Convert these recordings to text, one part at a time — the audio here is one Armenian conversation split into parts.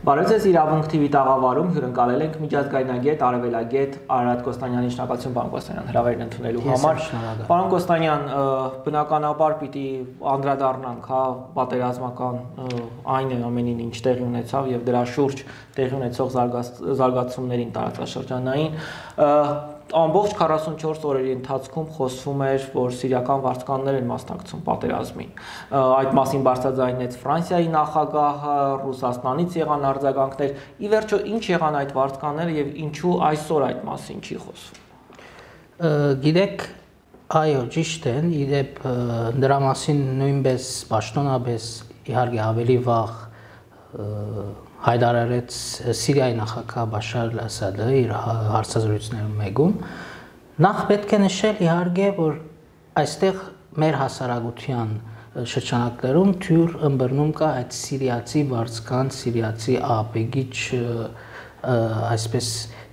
Բարև ձեզ, իրավունք TV տաղավարում հյուրընկալել ենք միջազգայնագետ, արևելագետ Արարատ Կոստանյանին, շնորհակալություն պարոն Կոստանյան հրավերն ընդունելու համար։ Պարոն Կոստանյան, բնականաբար պիտի անդրադառնանք, հա, պատերազմական այն ամենին, ինչ տեղի ունեցավ եւ դրա շուրջ տեղի ունեցող զարգացումներին տարածաշրջանային ամբողջ 44 օրերի ընթացքում խոսվում էր, որ սիրիական վարձկաններ են մասնակցում պատերազմին։ Այդ մասին բարձրաձայնեց Ֆրանսիայի նախագահը, Ռուսաստանից եղան արձագանքներ։ Ի վերջո, ինչ եղան այդ վարձկանները եւ ինչու այսօր այդ մասին չի խոսվում։ Գիտեք, այո, ճիշտ են, իդեպ դրա մասին նույնպես պաշտոնապես իհարկե ավելի վաղ հայտարարեց Սիրիայի նախագահ Բաշար Ասադը իր հարցազրույցներում մեկում։ Նախ պետք է նշել իհարկե, որ այստեղ մեր հասարակության շրջանակներում թյուր ըմբռնում կա այդ սիրիացի վարձկան, սիրիացի ահաբեկիչ այսպես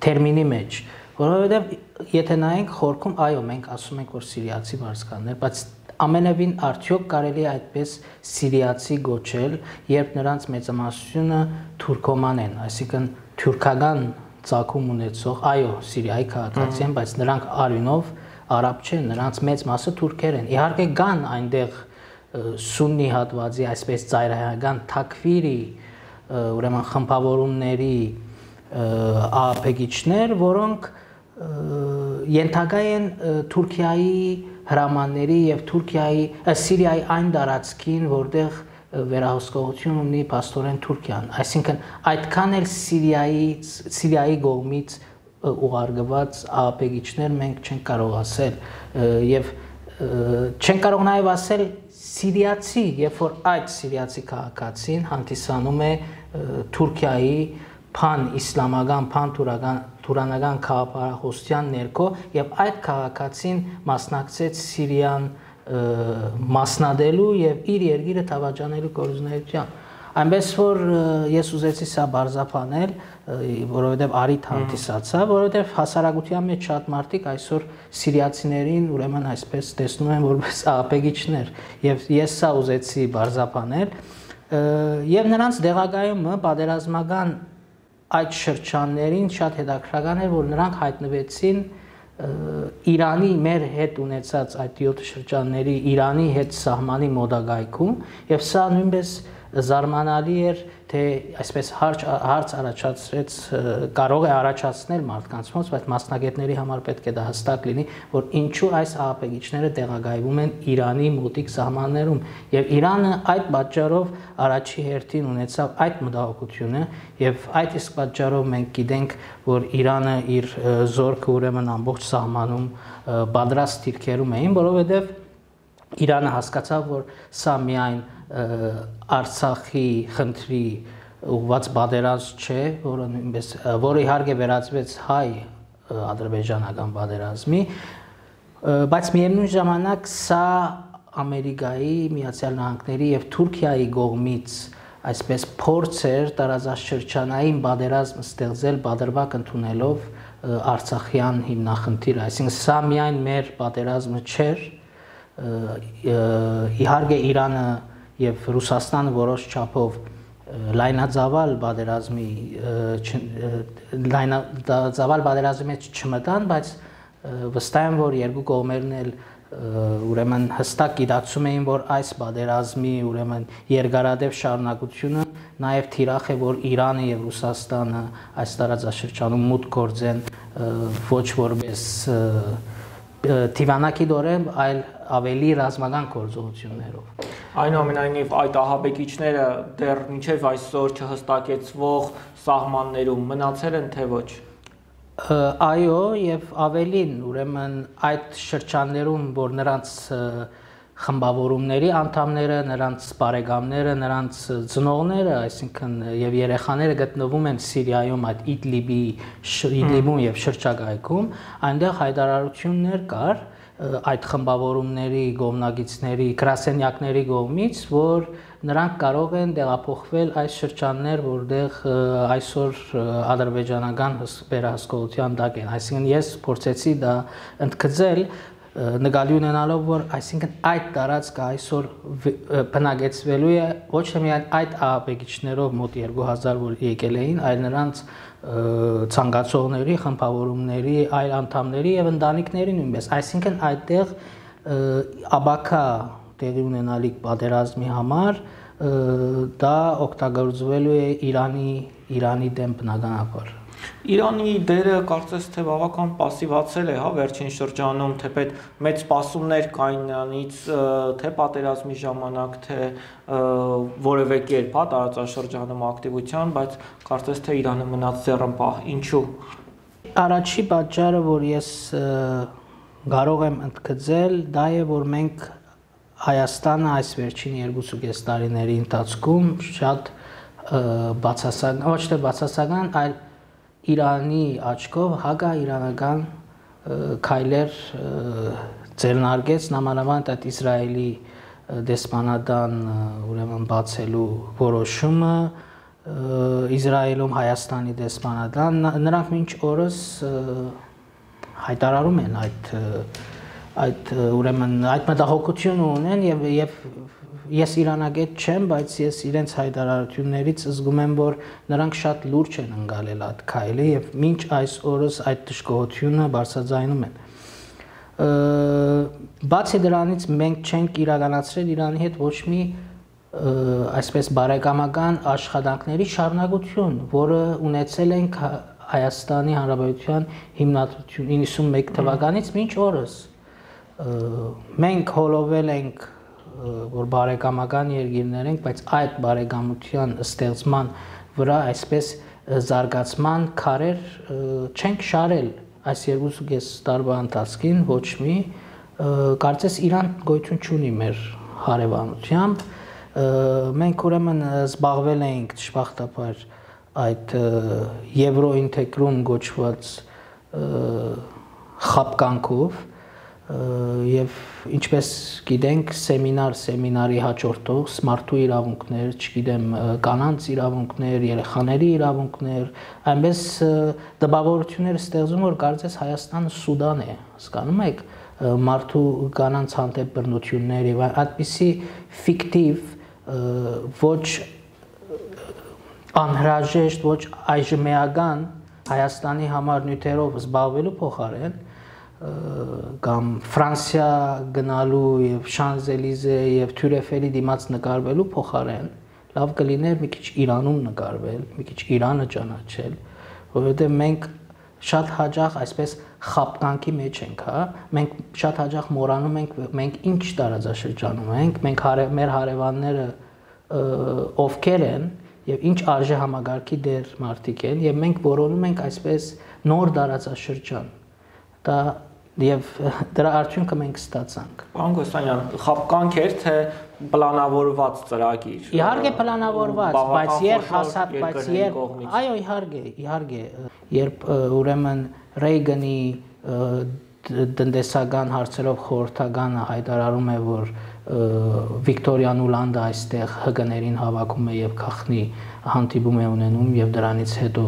տերմինի մեջ, որովհետև եթե նայենք խորքում, այո, մենք ասում ենք, որ սիրիացի վարձկաններ, բայց ամենևին արդյոք կարելի է այդպես սիրիացի գոչել, երբ նրանց մեծամասնությունը թուրքոման են, այսինքն թուրքական ծագում ունեցող, այո, Սիրիայի քաղաքացի են, բայց նրանք արյունով արաբ չեն, նրանց մեծ մասը թուրքեր են։ Իհարկե կան այնտեղ սուննի հատվածի, այսպես ծայրահեղական թաքֆիրի, ուրեմն խմբավորումների ահաբեկիչներ, որոնք ենթակա են Թուրքիայի հրամանների եւ Սիրիայի այն տարածքին, որտեղ վերահսկողություն ունի փաստորեն Թուրքիան, այսինքն այդքան էլ Սիրիայի կողմից ուղարկված ահաբեկիչներ մենք չենք կարող ասել եւ չենք կարող նաեւ ասել սիրիացի, երբ որ այդ սիրիացի քաղաքացին հանդիսանում է Թուրքիայի փան-իսլամական, փան-թուրանական քաղաքապարախոսության ներքո եւ այդ քաղաքացին մասնակցեց Սիրիան մասնադելու եւ իր երկիրը թավաճանելու գործունեության։ Այնպես որ ես ուզեցի սա բարձրանել, որովհետեւ արիթ հանդիսացա, որովհետեւ հասարակության մեջ շատ մարդիկ այսօր սիրիացիներին ուրեմն այսպես տեսնում են որպես ահաբեկիչներ եւ ես սա ուզեցի բարձրանել եւ նրանց դեղագայումը պատերազմական այդ շրջաններին շատ հետաքրքրական էր, որ նրանք հայտնվեցին Իրանի մեր հետ ունեցած այդ 7 շրջանների Իրանի հետ սահմանի մոտակայքում եւ սա նույնպես զարմանալի էր, թե այսպես հարց առաջացրեց, կարող է առաջացնել մարդկանց մոտ, բայց մասնագետների համար պետք է դա հստակ լինի, որ ինչու այս ահաբեկիչները տեղակայվում են Իրանի մոտիկ սահմաններում եւ Իրանը այդ պատճառով առաջի հերթին ունեցավ այդ մտահոգությունը եւ այդ իսկ պատճառով մենք գիտենք, որ Իրանը իր զորքը ուրեմն ամբողջ սահմանում պատրաստ դիրքերում էին, որովհետեւ Իրանը հասկացավ, որ սա միայն Արցախի խնդրի ուղղված պատերազմ չէ, որը իհարկե վերածվեց հայ-ադրբեջանական պատերազմի, բայց միևնույն ժամանակ սա Ամերիկայի, Միացյալ Նահանգների եւ Թուրքիայի կողմից այսպես փորձ էր տարածաշրջանային պատերազմ ստեղծել պատրվակ ընդունելով Արցախյան հիմնախնդիրը, այսինքն սա միայն մեր պատերազմը չէր, իհարկե Իրանը եւ Ռուսաստանը որոշ չափով լայնածավալ պատերազմի մեջ չմտան, բայց վստահ եմ, որ երկու կողմերն էլ ուրեմն հստակ գիտակցում էին, որ այս պատերազմի ուրեմն երկարատև շարունակությունը նաեւ թիրախ է, որ Իրանը եւ Ռուսաստանը այս տարածաշրջանում մուտք գործեն ոչ որպես թիվանակի դորեն, այլ ավելի ռազմական գործողություններով։ Այնուամենայնիվ այդ ահաբեկիչները դեռ մինչև այսօր չհստակեցվող սահմաններում մնացել են թե ոչ։ Այո, եւ ավելին, ուրեմն այդ շրջաններում, որ նրանց խմբավորումների անդամները, նրանց բարեկամները, նրանց ծնողները, այսինքն եւ երեխաները գտնվում են Սիրիայում այդ Իդլիբում եւ շրջակայքում, այնտեղ հայտարարություններ կար այդ խմբավորումների կողմնակիցների, գրասենյակների կողմից, որ նրանք կարող են տեղափոխվել այս շրջաններ, որտեղ այսօր ադրբեջանական վերահսկողության տակ են։ Այսինքն ես փորձեցի դա ընդգծել, նկատի ունենալով որ այսինքն այդ տարածքը այսօր բնակեցվելու է ոչ թե միայն այդ ահաբեկիչներով մոտ 2000 որ եկել էին, այլ նրանց ցանկացողների, խմբավորումների, այլ անդամների եւ ընտանիքների նույնպես, այսինքն այդտեղ աբակա տեղի ունենալիք պատերազմի համար դա օգտագործվելու է Իրանի դեմ բնականաբար։ Իրանի դերը կարծես թե բավական пассивացել է, հա, վերջին շրջանում, թեպետ մեծ սպասումներ կային նրանից, թե պատերազմի ժամանակ, թե որևէ կերպ, հա, տարածաշրջանում ակտիվության, բայց կարծես թե Իրանը մնաց ձեռնպահ։ Ինչու՞։ Առաջի պատճառը, որ ես կարող եմ ընդգծել, դա է, որ մենք Հայաստանը այս վերջին 2.5 տարիների ընթացքում շատ բացասական, ոչ թե բացասական, այլ Իրանի աչքով հակաիրանական քայլեր ձեռնարկեց, նամանավանդ այդ Իսրայելի դեսպանատան ուրեմն բացելու որոշումը, Իսրայելում Հայաստանի դեսպանատան, նրանք մինչ օրս հայտարարում են այդ ուրեմն այդ մտահոգությունը ունեն եւ ես իրանագետ չեմ, բայց ես իրենց հայտարարություններից զգում եմ, որ նրանք շատ լուրջ են ընկալել այդ քայլը եւ մինչ այս օրս այդ դժգոհությունը բարձրաձայնում են։ Բացի դրանից մենք չենք իրականացրել Իրանի հետ ոչ մի այսպես բարեկամական աշխատանքների շարունակություն, որը ունեցել ենք Հայաստանի Հանրապետության հիմնադրություն 91 թվականից մինչ օրս։ Մենք հոլովել ենք որ բարեկամական երկիրներ ենք, բայց այդ բարեկամության ստեղծման վրա այսպես զարգացման քարեր չենք շարել այս 2.5 տարվա ընթացքին ոչ մի, կարծես Իրան գոյություն չունի մեր հարևանությամբ, մենք ուրեմն զբաղվել ենք դժբախտաբար այդ եվրոինտեգրում գոչված խապկանքով եւ ինչպես գիտենք սեմինարի հաջորդող մարդու իրավունքներ, չգիտեմ, կանանց իրավունքներ, երեխաների իրավունքներ, այնպես դպավորություններ ստեղծում որ կարծես Հայաստանը Սուդան է, հասկանում եք, մարդու կանանց հանդեպ բռնություններ եւ այդպիսի ֆիկտիվ ոչ անհրաժեշտ, ոչ այժմեական Հայաստանի համար նյութերով զբաղվելու փոխարեն կամ Ֆրանսիա գնալու եւ Շանզելիզե եւ Թյուրեֆելի դիմաց նկարվելու փոխարեն լավ կլիներ մի քիչ Իրանում նկարվել, մի քիչ Իրանը ճանաչել, որովհետեւ մենք շատ հաճախ այսպես խապկանքի մեջ ենք, հա, մենք շատ հաճախ մոռանում ենք մենք ինչ տարածաշրջանում ենք, մենք մեր հարևանները ովքեր են եւ ինչ արժե համագարկի դեր մարդիկ են եւ մենք որոնում ենք այսպես նոր տարածաշրջան։ Դա եւ դրա արդյունքը մենք ստացանք։ Պարոն Կոստանյան, խապկանք էր թե պլանավորված ծրագիր։ Իհարկե պլանավորված, բայց այո, իհարկե, երբ ուրեմն Ռեյգանի տնտեսական հարցերով խորհրդականը հայտարարում է, որ Վիկտորիա Նուլանդը այստեղ ՀԿ-ներին հավաքում է եւ քախնի հանդիպում է ունենում եւ դրանից հետո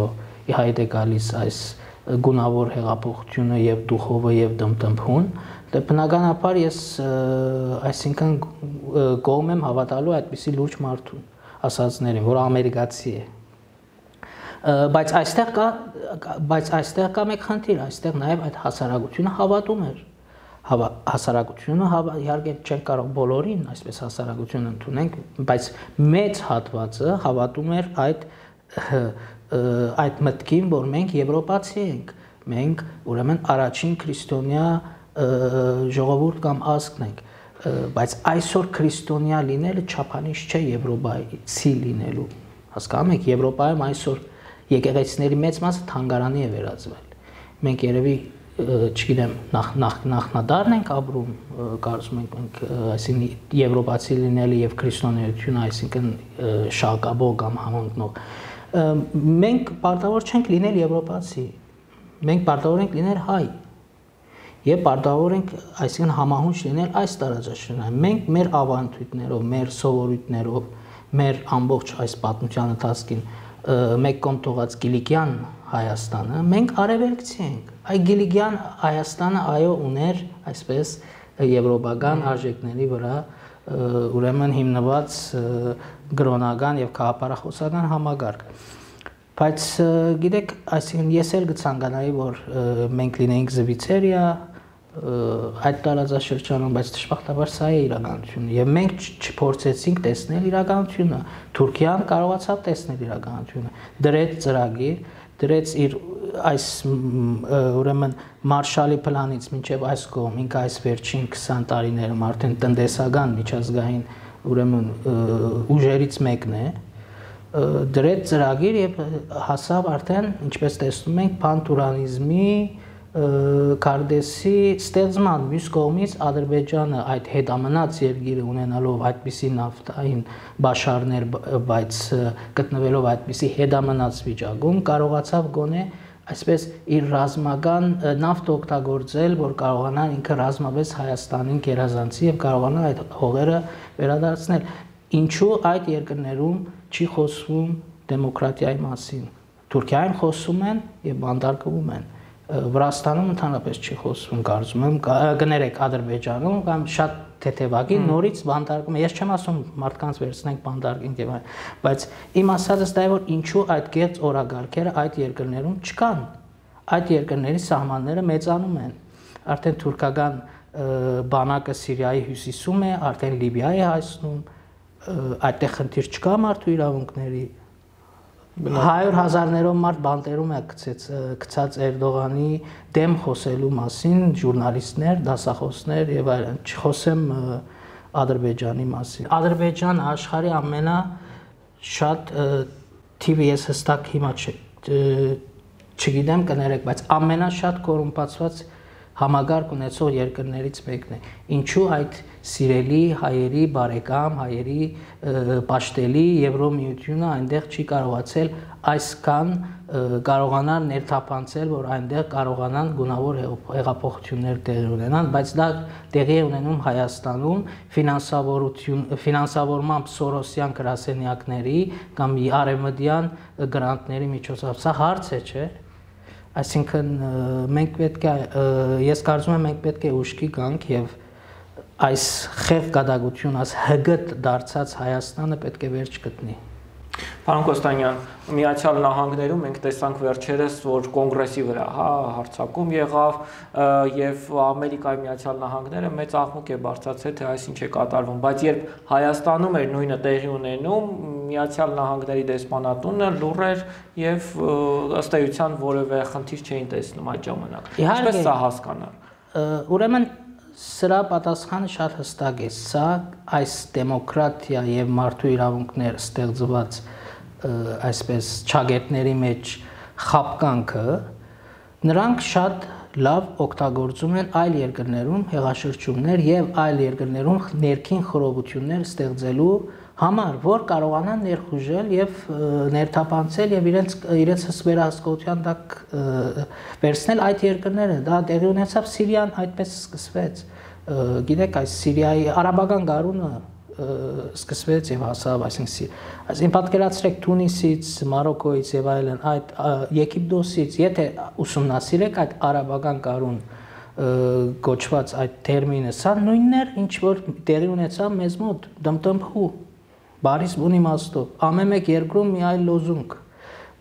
իհայտ է գալիս այս գունավոր հեղափոխությունը եւ դուխովը եւ դմտմփուն, դե բնականաբար ես այսինքն կողմ եմ հավատալու այդպիսի լուրջ մարդուն, ասածներին, որ ամերիկացի է։ Բայց այստեղ կա մեկ խնդիր, այստեղ նաեւ այդ հասարակությունը հավատում էր։ Հասարակությունը իհարկե չեն կարող բոլորին այսպես հասարակություն ընդունենք, բայց մեծ հատվածը հավատում էր այդ մտքին, որ մենք եվրոպացի ենք, մենք ուրեմն առաջին քրիստոնյա ժողովուրդ կամ ազգն ենք, բայց այսօր քրիստոնյա լինելը չափանիշ չէ եվրոպացի լինելու, հասկանում եք, Եվրոպայում այսօր եկեղեցիների մեծ մասը թանգարանի է վերածվել, մենք երևի չգիտեմ նախնադարն ենք ապրում, կարծում ենք մենք, այսինքն եվրոպացի լինելը եւ քրիստոնեությունը, այսինքն շակաբող կամ համընկնող մենք պարտավոր չենք լինել եվրոպացի, մենք պարտավոր ենք լինել հայ եւ պարտավոր ենք այսինքն համահունչ լինել այս տարածաշրջանում, մենք մեր ավանդույթներով, մեր սովորույթներով, մեր ամբողջ այս պատմության ընթացքին մեկ կողմ թողած Գիլիգյան Հայաստանը, մենք արևելքցի ենք։ Այ Գիլիգյան Հայաստանը այո ուներ այսպես եվրոպական արժեքների վրա ուրեմն հիմնված գրոնական եւ քաղաքապարախոսական համագարկ։ Բայց գիտեք, այսինքն ես էլ կցանկանայի, որ մենք լինեինք Զվիցերիա այդ տարածաշրջանում, բայց դժբախտաբար սա է իրականությունը եւ մենք չփորձեցինք տեսնել իրականությունը։ Թուրքիան կարողացավ տեսնել իրականությունը, դրեց ծրագիր, դրեց իր այս ուրեմն Մարշալի պլանից մինչև այս կողմ, ինքը այս վերջին 20 տարիներում արդեն տնտեսական միջազգային ուրեմն ուժերից մեկն է, դրեց ծրագիր եւ հասավ արդեն, ինչպես տեսնում ենք, պանթուրանիզմի Կարդեսի ստեղծման մյուս կողմից Ադրբեջանը այդ հետամնաց երկիրը ունենալով այդպիսի նավթային բաշարներ, բայց գտնվելով այդպիսի հետամնաց վիճակում կարողացավ գոնե այսպես իր ռազմական նավթ օգտագործել, որ կարողանա ինքը ռազմավեց Հայաստանին գերազանցի եւ կարողանա այդ հողերը վերադարձնել։ Ինչու այդ երկրներում չի խոսվում դեմոկրատիայի մասին։ Թուրքիայում խոսում են եւ բանտարկվում են։ Վրաստանում ընդհանրապես չի խոսվում, կարծում եմ, կներեք Ադրբեջանում կամ շատ թեթևակի նորից բանտարկում։ Ես չեմ ասում մարդկանց վերցնենք բանտարկենք եւ այլն, բայց իմ ասածս դա է, որ ինչու այդ կեղծ օրագարկերը այդ երկրներում չկան։ Այդ երկրների սահմանները մեծանում են։ Արդեն թուրքական բանակը Սիրիայի հյուսիսում է, արդեն Լիբիա է հասնում, այդտեղ խնդիր չկա մարդու իրավունքների։ 100,000-ներով մարդ բանտերում է գցած Էրդողանի դեմ խոսելու մասին, ժուրնալիստներ, դասախոսներ եւ այլն, չխոսեմ Ադրբեջանի մասին։ Ադրբեջանը աշխարհի ամենաշատ թիվը ես հստակ հիմա չգիտեմ, կներեք, բայց ամենաշատ կոռումպացված համագարկ ունեցող երկրներից մեկն է։ Ինչու այդ սիրելի հայերի բարեկամ, հայերի պաշտելի Եվրոմիությունը այնտեղ չի կարողացել այսքան կարողանալ ներթափանցել, որ այնտեղ կարողանան գունավոր հեղափոխություններ տեղի ունենան, բայց դա տեղի է ունենում Հայաստանում ֆինանսավորմամբ Սորոսյան գրասենյակների կամ արևմտյան գրանտների միջոցով։ Սա հարց է, չէ՞։ Այսինքն մենք պետք է, ես կարծում եմ մենք պետք է ուշքի գանք եւ այս խեղ գադագություն, այս հգտ դարձած Հայաստանը պետք է վերջ գտնի։ Պարոն Կոստանյան, Միացյալ Նահանգներում մենք տեսանք վերջերս, որ կոնգրեսի վրա հարձակում եղավ եւ Ամերիկայի Միացյալ Նահանգները մեծ աղմուկ է բարձրացել, թե այս ինչ է կատարվում, բայց երբ Հայաստանում էր նույնը տեղի ունենում, Միացյալ Նահանգների դեսպանատունը լուռ էր եւ ըստ էության որևէ խնդիր չէին տեսնում այդ ժամանակ։ Ինչպես սա հասկանալ։ Ուրեմն սրա պատասխանը շատ հստակ է, սա այս դեմոկրատիա եւ մարդու իրավունքներ ստեղծված այսպես չագետների մեջ խապկանքը նրանք շատ լավ օգտագործում են այլ երկրներում հեղաշրջումներ եւ այլ երկրներում ներքին խռովություններ ստեղծելու համար, որ կարողանան ներխուժել եւ ներթափանցել եւ իրենց վերահսկողության տակ վերցնել այդ երկրները։ Դա տեղի ունեցավ Սիրիան, այդպես սկսվեց։ Գիտեք, այս Սիրիայի արաբական գարունը սկսվեց եւ հասավ, այսինքն պատկերացրեք Թունիսից, Մարոկոից եւ այլն, այդ Եգիպտոսից, եթե ուսումնասիրեք այդ արաբական գարուն գոչված այդ տերմինը, սա նույնն էր, ինչ որ տեղի ունեցավ մեզ մոտ, դմտմփու, բարիս բուն իմաստով, ամեն մեկ երկրում մի այլ լոզունգ,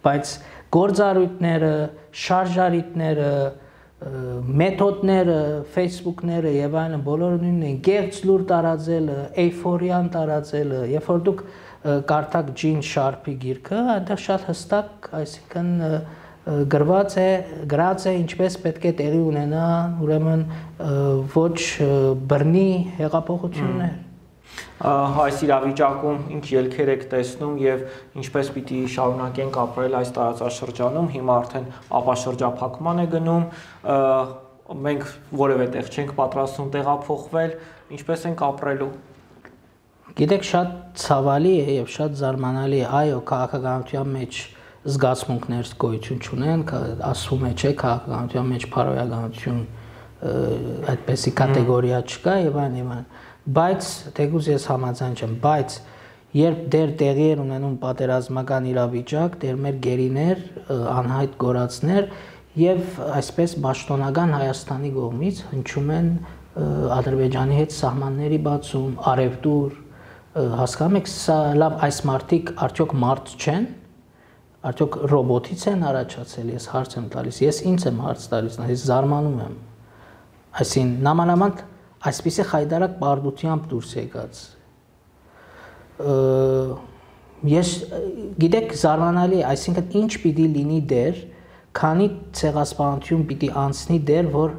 բայց գործառույթները, շարժարիտները, մեթոդները, Facebook-ները եւ այլն բոլորը նույնն են, գեղձ լուր տարածելը, էյֆորիան տարածելը, երբ որ դուք կարդաք Ջին Շարփի գիրքը, այնտեղ շատ հստակ, այսինքն գրված է ինչպես պետք է տեղի ունենա, ուրեմն ոչ բռնի հեղափոխություններ։ Այս իրավիճակում ինչ ելքեր եք տեսնում եւ ինչպես պիտի շարունակենք ապրել այս տարածաշրջանում, հիմա արդեն ապաշրջափակման է գնում, մենք որևէ տեղ չենք պատրաստվում տեղափոխվել, ինչպես ենք ապրելու։ Գիտեք, շատ ցավալի է եւ շատ զարմանալի է, այո, քաղաքականության մեջ զգացմունքներ գոյություն չունեն, ասվում է, չէ, քաղաքականության մեջ փարոյականություն այդպեսի կատեգորիա չկա եւ այլն, բայց թեկուզ ես համաձայն չեմ, բայց երբ դեր տեղի էր ունենում պատերազմական իրավիճակ, դեր մեր գերիներ, անհայտ գորածներ եւ այսպես պաշտոնական Հայաստանի կողմից հնչում են Ադրբեջանի հետ սահմանների բացում, արևտուր, հասկանում եք, սա լավ այս մարդիկ արդյոք մարդ չեն, արդյոք ռոբոտից են առաջացել, ես հարց եմ տալիս, ես ինձ եմ հարց տալիս, ես զարմանում եմ, այսին նամանավանդ այսպիսի խայդարակ պարտությամբ դուրս եկած, ես գիտեք զարմանալի է, այսինքն ինչ պիտի լինի դեր, քանի ցեղասպանություն պիտի անցնի դեր, որ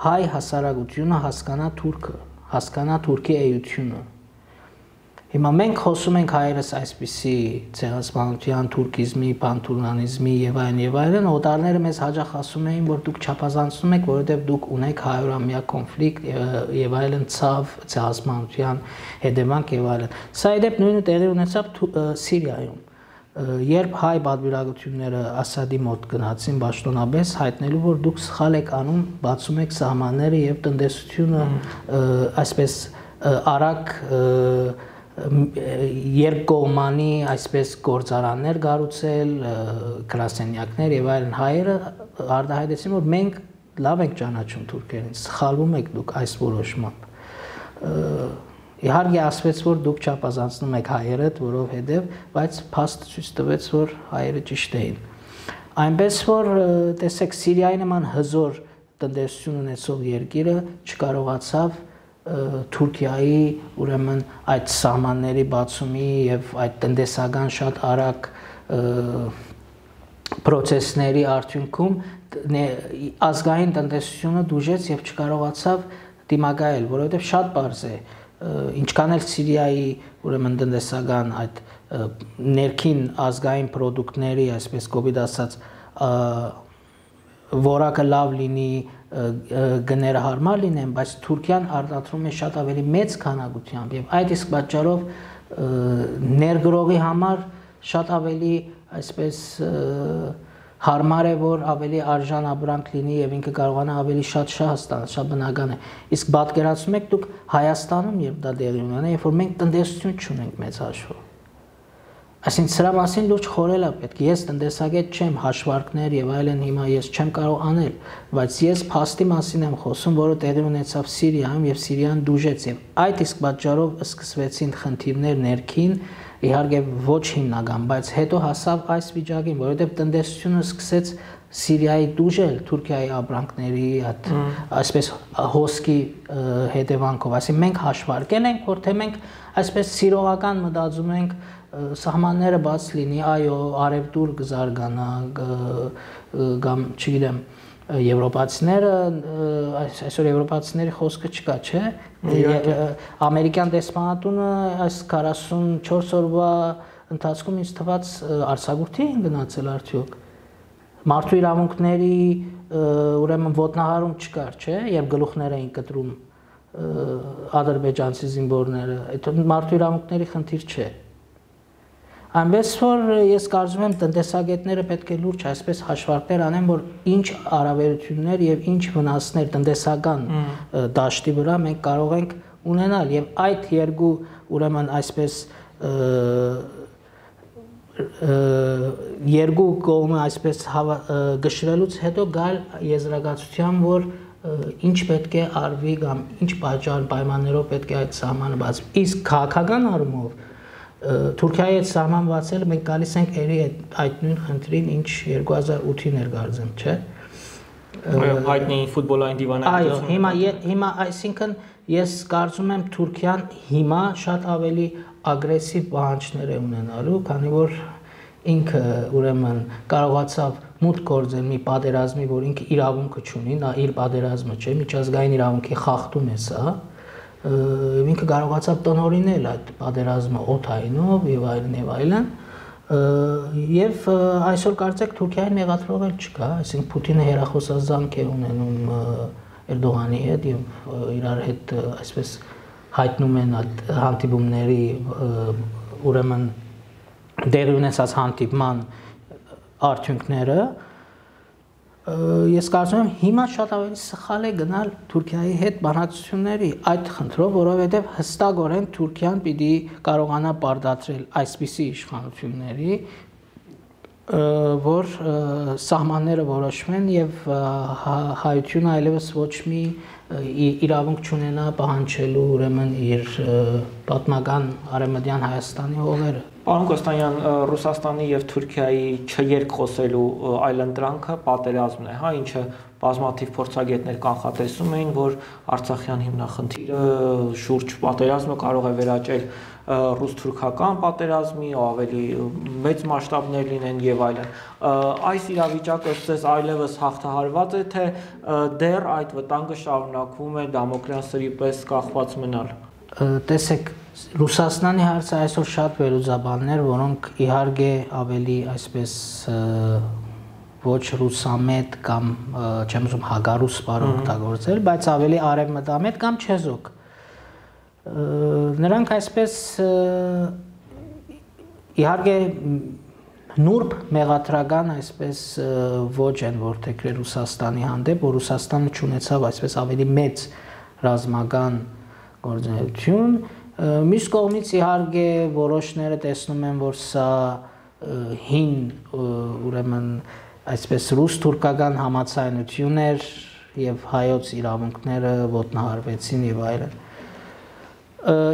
հայ հասարակությունը հասկանա թուրքը, հասկանա թուրքի էությունը։ Հիմա մենք խոսում ենք հայերս այսպիսի ցեղասպանության, թուրքիզմի, պանթուրքիզմի եւ այլն, օտարները մեզ հաճախ ասում էին, որ դուք չափազանցնում եք, որովհետեւ դուք ունեք 100-ամյա կոնֆլիկտ եւ այլն, ցավ, ցեղասպանության հետևանք եւ այլն։ Սա իդեպ նույնը տեղի ունեցավ Սիրիայում։ Երբ հայ պատվիրակությունները Ասադի մոտ գնացին պաշտոնապես հայտնելու, որ դուք սխալ եք անում, բացում եք սահմանները եւ տնտեսությունը այսպես արագ երկկողմանի այսպես գործարաններ կառուցել, գրասենյակներ եւ այլն, հայերը արտահայտեցին, որ մենք լավ ենք ճանաչում թուրքերին, սխալվում եք դուք այս որոշմամբ։ Իհարկե ասվեց, որ դուք չափազանցնում եք հայերդ, որովհետև, բայց փաստը ցույց տվեց, որ հայերը ճիշտ էին։ Այնպես որ տեսեք Սիրիայի նման հզոր տնտեսություն ունեցող երկիրը չկարողացավ Թուրքիայի ուրեմն այդ սահմանների բացումի եւ այդ տնտեսական շատ արագ process-ների արդյունքում ազգային տնտեսությունը դուժեց եւ չկարողացավ դիմակայել, որովհետեւ շատ բարձ է ինչքան էլ Սիրիայի ուրեմն տնտեսական այդ ներքին ազգային product-ների, այսպես կոպիտ ասած, որակը լավ լինի, գները հարմար լինեն, բայց Թուրքիան արտադրում է շատ ավելի մեծ քանակությամբ եւ այդ իսկ պատճառով ներգրողի համար շատ ավելի այսպես հարմար է, որ ավելի արժան ապրանք լինի եւ ինքը կարողանա ավելի շատ շահ ստանալ, շատ բնական է։ Իսկ պատկերացնում եք դուք Հայաստանում երբ դա տեղի ունենա, երբ որ մենք տնտեսություն չունենք մեծ հաշվով։ Այսինքն սրա մասին լուրջ խորել է պետք։ Ես տնտեսագետ չեմ, հաշվարկներ եւ այլն հիմա ես չեմ կարող անել, բայց ես փաստի մասին եմ խոսում, որը տեղի ունեցավ Սիրիայում եւ Սիրիան դուժեց եւ այդ իսկ պատճառով սկսվեցին խնդիրներ ներքին, իհարկե ոչ հիմնական, բայց հետո հասավ այս վիճակին, որովհետեւ տնտեսությունը սկսեց Սիրիայի դուժել Թուրքիայի ապրանքների այսպես հոսքի հետևանքով, այսինքն մենք հաշվարկել ենք, որ թե մենք այսպես սիրողական մտածում ենք սահմանները բաց լինի, այո, արևտուր կզարգանա, կամ չգիտեմ, եվրոպացիները, այսօր եվրոպացիների խոսքը չկա, չէ՞։ Ամերիկյան դեսպանատունը այս 44 օրվա ընթացքում ինձ թվաց արձակուրդի են գնացել արդյոք։ Մարդու իրավունքների ուրեմն ոտնահարում չկար, չէ՞, երբ գլուխներ էին կտրում ադրբեջանցի զինվորները, այդ մարդու իրավունքների խնդիր չէ։ Այնպես որ ես կարծում եմ տնտեսագետները պետք է լուրջ այսպես հաշվարկներ անեն, որ ինչ առավելություններ եւ ինչ վնասներ տնտեսական դաշտի վրա մենք կարող ենք ունենալ եւ այդ երկու ուրեմն այսպես երկու կողմը այսպես գշրելուց հետո գալ եզրակացության, որ ինչ պետք է արվի կամ ինչ պատճառ պայմաններով պետք է այդ սահմանը բացվի։ Իսկ քաղաքական առումով Թուրքիայի հետ սահման բացելը մենք գալիս ենք երի այդ նույն խնդրին, ինչ 2008-ին էր կարծեմ, չէ՞։ Հայտնի ֆուտբոլային դիվանագիտությունը։ Այո, հիմա այսինքն ես կարծում եմ Թուրքիան հիմա շատ ավելի ագրեսիվ պահանջներ է ունենալու, քանի որ ինքը ուրեմն կարողացավ մուտք գործել մի պատերազմի, որ ինքը իրավունքը չունի, նա իր պատերազմը չէ, միջազգային իրավունքի խախտում է սա։ Ինքը կարողացավ տնօրինել այդ պատերազմը օդայինով եւ այլն եւ այսօր կարծեք Թուրքիային մեղադրող էլ չկա, այսինքն Պուտինը հերախոսազանգ է ունենում Էրդողանի հետ եւ իրար հետ այսպես հայտնում են այդ հանդիպումների ուրեմն դեղի ունեցած հանդիպման արդյունքները Ես կարծում եմ հիմա շատ ավելի սխալ է գնալ Թուրքիայի հետ բանակցությունների այդ խնդրով, որովհետև հստակորեն Թուրքիան պիտի կարողանա պարտադրել այսպիսի իշխանությունների, որ սահմանները որոշվեն եւ հայությունը այլևս ոչ մի իրավունք չունենա պահանջելու ուրեմն իր պատմական Արևմտյան Հայաստանի հողերը։ Պարոն Կոստանյան, Ռուսաստանի եւ Թուրքիայի չերկխոսելու այլընտրանքը պատերազմն է, հա, ինչը բազմաթիվ փորձագետներ կանխատեսում էին, որ Արցախյան հիմնախնդիրը շուրջ պատերազմը կարող է վերաճել ռուս-թուրքական պատերազմի, ավելի մեծ մասշտաբներ լինեն եւ այլն։ Այս իրավիճակը ըստ այլևս հաղթահարված է, թե դեռ այդ վտանգը շարունակվում է Դամոկլյան սրի պես կախված մնալ։ Տեսեք, Ռուսաստանի հարցը այսօր շատ վերլուծաբաններ, որոնք իհարկե ավելի այսպես ոչ ռուսամետ կամ չեմ ուզում հագարուս բառ օգտագործել, բայց ավելի արևմտամետ կամ չեզոք։ Նրանք այսպես իհարկե նուրբ մեղադրական այսպես ոչ են որթեքրել Ռուսաստանի հանդեպ, որ Ռուսաստանը չունեցավ այսպես ավելի մեծ ռազմական գործունեություն։ Մյուս կողմից իհարկե որոշները տեսնում են, որ սա հին ուրեմն այսպես ռուս-թուրքական համացայնություն էր եւ հայոց իրավունքները ոտնահարվեցին եւ այլն։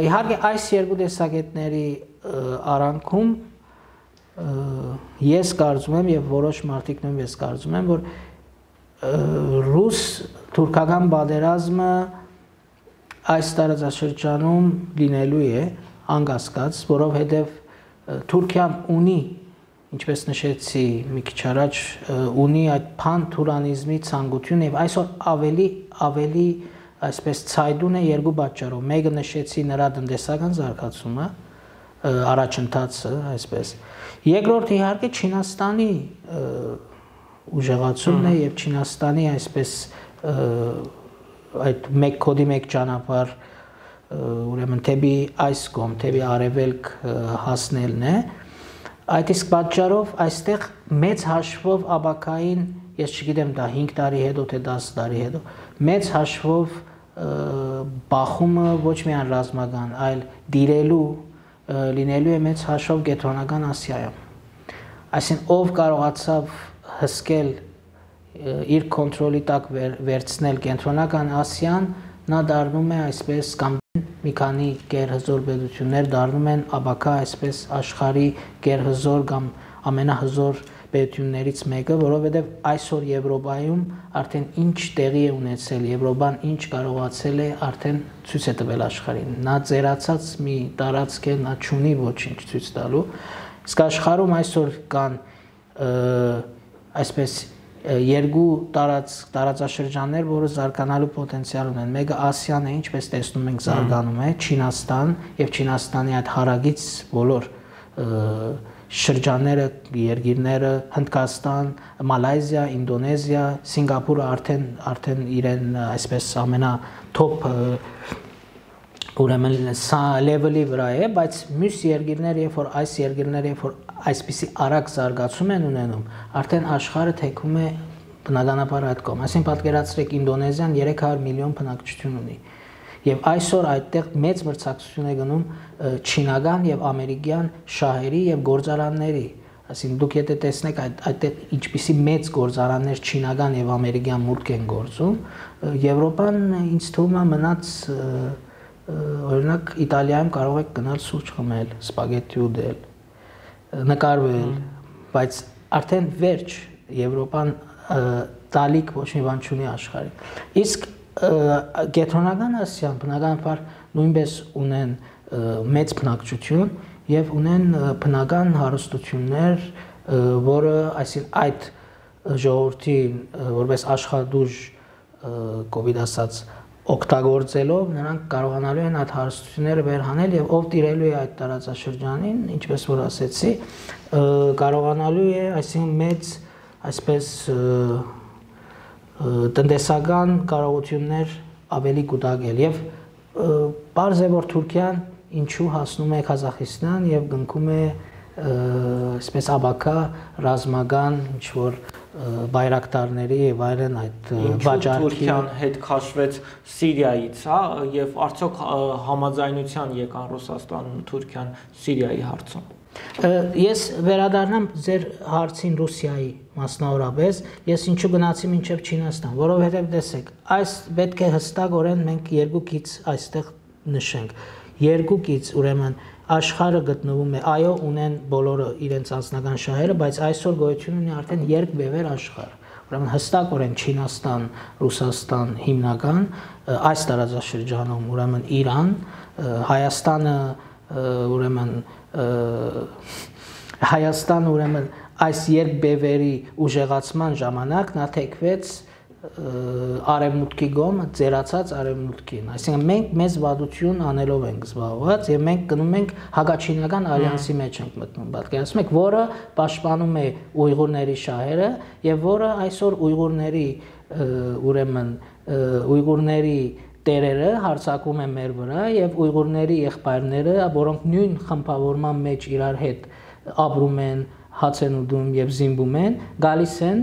Իհարկե այս երկու տեսակետների արանքում ես կարծում եմ եւ որոշ մարդիկ նույնպես կարծում են, որ ռուս-թուրքական պատերազմը այս տարածաշրջանում լինելու է անկասկած, որովհետև Թուրքիան ունի, ինչպես նշեցի մի քիչ առաջ, ունի այդ փան-թուրանիզմի ցանկություն եւ այսօր ավելի այսպես ցայդուն է երկու պատճառով։ Մեկը նշեցի նրա տնտեսական զարգացումը, առաջընթացը, այսպես։ Երկրորդը իհարկե Չինաստանի ուժեղացումն է եւ Չինաստանի այսպես այդ մեկ կոդի մեկ ճանապարհ ուրեմն թեպի այս կողմ, թեպի արևելք հասնելն է։ Այդ իսկ պատճառով այստեղ մեծ հաշվով աբակային, ես չգիտեմ դա 5 տարի հետո թե 10 տարի հետո, մեծ հաշվով բախումը ոչ միայն ռազմական, այլ դիրելու լինելու է մեծ հաշվով Կենտրոնական Ասիայում։ Այսինքն ով կարողացավ հսկել իր կոնտրոլի տակ վերցնել Կենտրոնական Ասիան, նա դառնում է այսպես կամ մի քանի գերհզոր պետություններ դառնում են աբակա այսպես աշխարհի գերհզոր կամ ամենահզոր պետություններից մեկը, որովհետև այսօր Եվրոպայում արդեն ինչ տեղի է ունեցել, Եվրոպան ինչ կարողացել է արդեն ցույց է տվել աշխարհին։ Նա ծերացած մի տարածք է, նա չունի ոչինչ ցույց տալու։ Իսկ աշխարհում այսօր կան այսպես երկու տարածաշրջաններ, որը զարգանալու պոտենցիալ ունեն։ Մեկը Ասիան է, ինչպես տեսնում ենք, զարգանում է, Չինաստան եւ Չինաստանի այդ հարագից բոլոր շրջանները, երկիրները, Հնդկաստան, Մալայզիա, Ինդոնեզիա, Սինգապուրը արդեն իրեն այսպես ամենաթոփ ուրեմն սա լեվելի վրա է, բայց մյուս երկիրները, երբ որ այս երկիրները, երբ որ այսպիսի արագ զարգացում են ունենում, արդեն աշխարհը թեքում է բնականաբար այդ կողմ։ Այսինքն պատկերացրեք Ինդոնեզիան 300 միլիոն բնակչություն ունի։ Եվ այսօր այդտեղ մեծ մրցակցություն է գնում չինական եւ ամերիկյան շահերի եւ գործարանների։ Այսինքն դուք եթե տեսնեք այդտեղ ինչպիսի մեծ գործարաններ չինական եւ ամերիկյան մուտք են գործում, Եվրոպան ինձ թվում է մնաց օրինակ Իտալիայում կարող եք գնալ սուրճ խմել, սպագետի ուտել, նկարվել, բայց արդեն վերջ Եվրոպան տալիք ոչ մի բան չունի աշխարհին։ Իսկ Կենտրոնական Ասիան բնականաբար նույնպես ունեն մեծ բնակչություն եւ ունեն բնական հարստություններ, որը այսինքն այդ ժողովրդի որպես աշխատուժ կոവിഡ് ասած օգտագործելով նրանք կարողանալու են այդ հարստությունները վերհանել եւ ով տիրելու է այդ տարածաշրջանին, ինչպես որ ասեցի, կարողանալու է այսինքն մեծ այսպես տնտեսական կարողություններ ավելի կուտակել եւ պարզ է որ Թուրքիան ինչու հասնում է Ղազախստան եւ գնքում է այսպես աբակա ռազմական ինչ որ բայրակտարների եւ այլն այդ վաճառքի Թուրքիան հետ քաշվեց Սիրիայից, հա, եւ արդյոք համաձայնության եկան Ռուսաստանն ու Թուրքիան Սիրիայի հարցում։ Ես վերադառնամ ձեր հարցին Ռուսիայի մասնավորապես, ես ինչու գնացի մինչև Չինաստան, որովհետև տեսեք, այս պետք է հստակորեն մենք երկու գիծ այստեղ նշենք։ Երկու գիծ, ուրեմն աշխարհը գտնվում է, այո, ունեն բոլորը իրենց անձնական շահերը, բայց այսօր գոյություն ունի արդեն երկբևեռ աշխարհ։ Ուրեմն հստակորեն Չինաստան, Ռուսաստան հիմնական, այս տարածաշրջանում, ուրեմն Իրան, Հայաստանը, ուրեմն Հայաստանը ուրեմն այս երկբևերի ուժեղացման ժամանակ նա թեքվեց արևմուտքի կողմը, ծերացած արևմուտքին, այսինքն մենք մեծ վատություն անելով ենք զբաղված եւ մենք գնում ենք հակաչինական ալյանսի մեջ ենք մտնում, պատկերացնում եք, որը պաշտպանում է ուйղուրների շահերը եւ որը այսօր ուйղուրների ուրեմն ուйղուրների տերերը հարձակվում են մեր վրա եւ ուйղուրների եղբայրները, որոնք նույն խմբավորման մեջ իրար հետ ապրում են, հաց են ուտում եւ զինվում են, գալիս են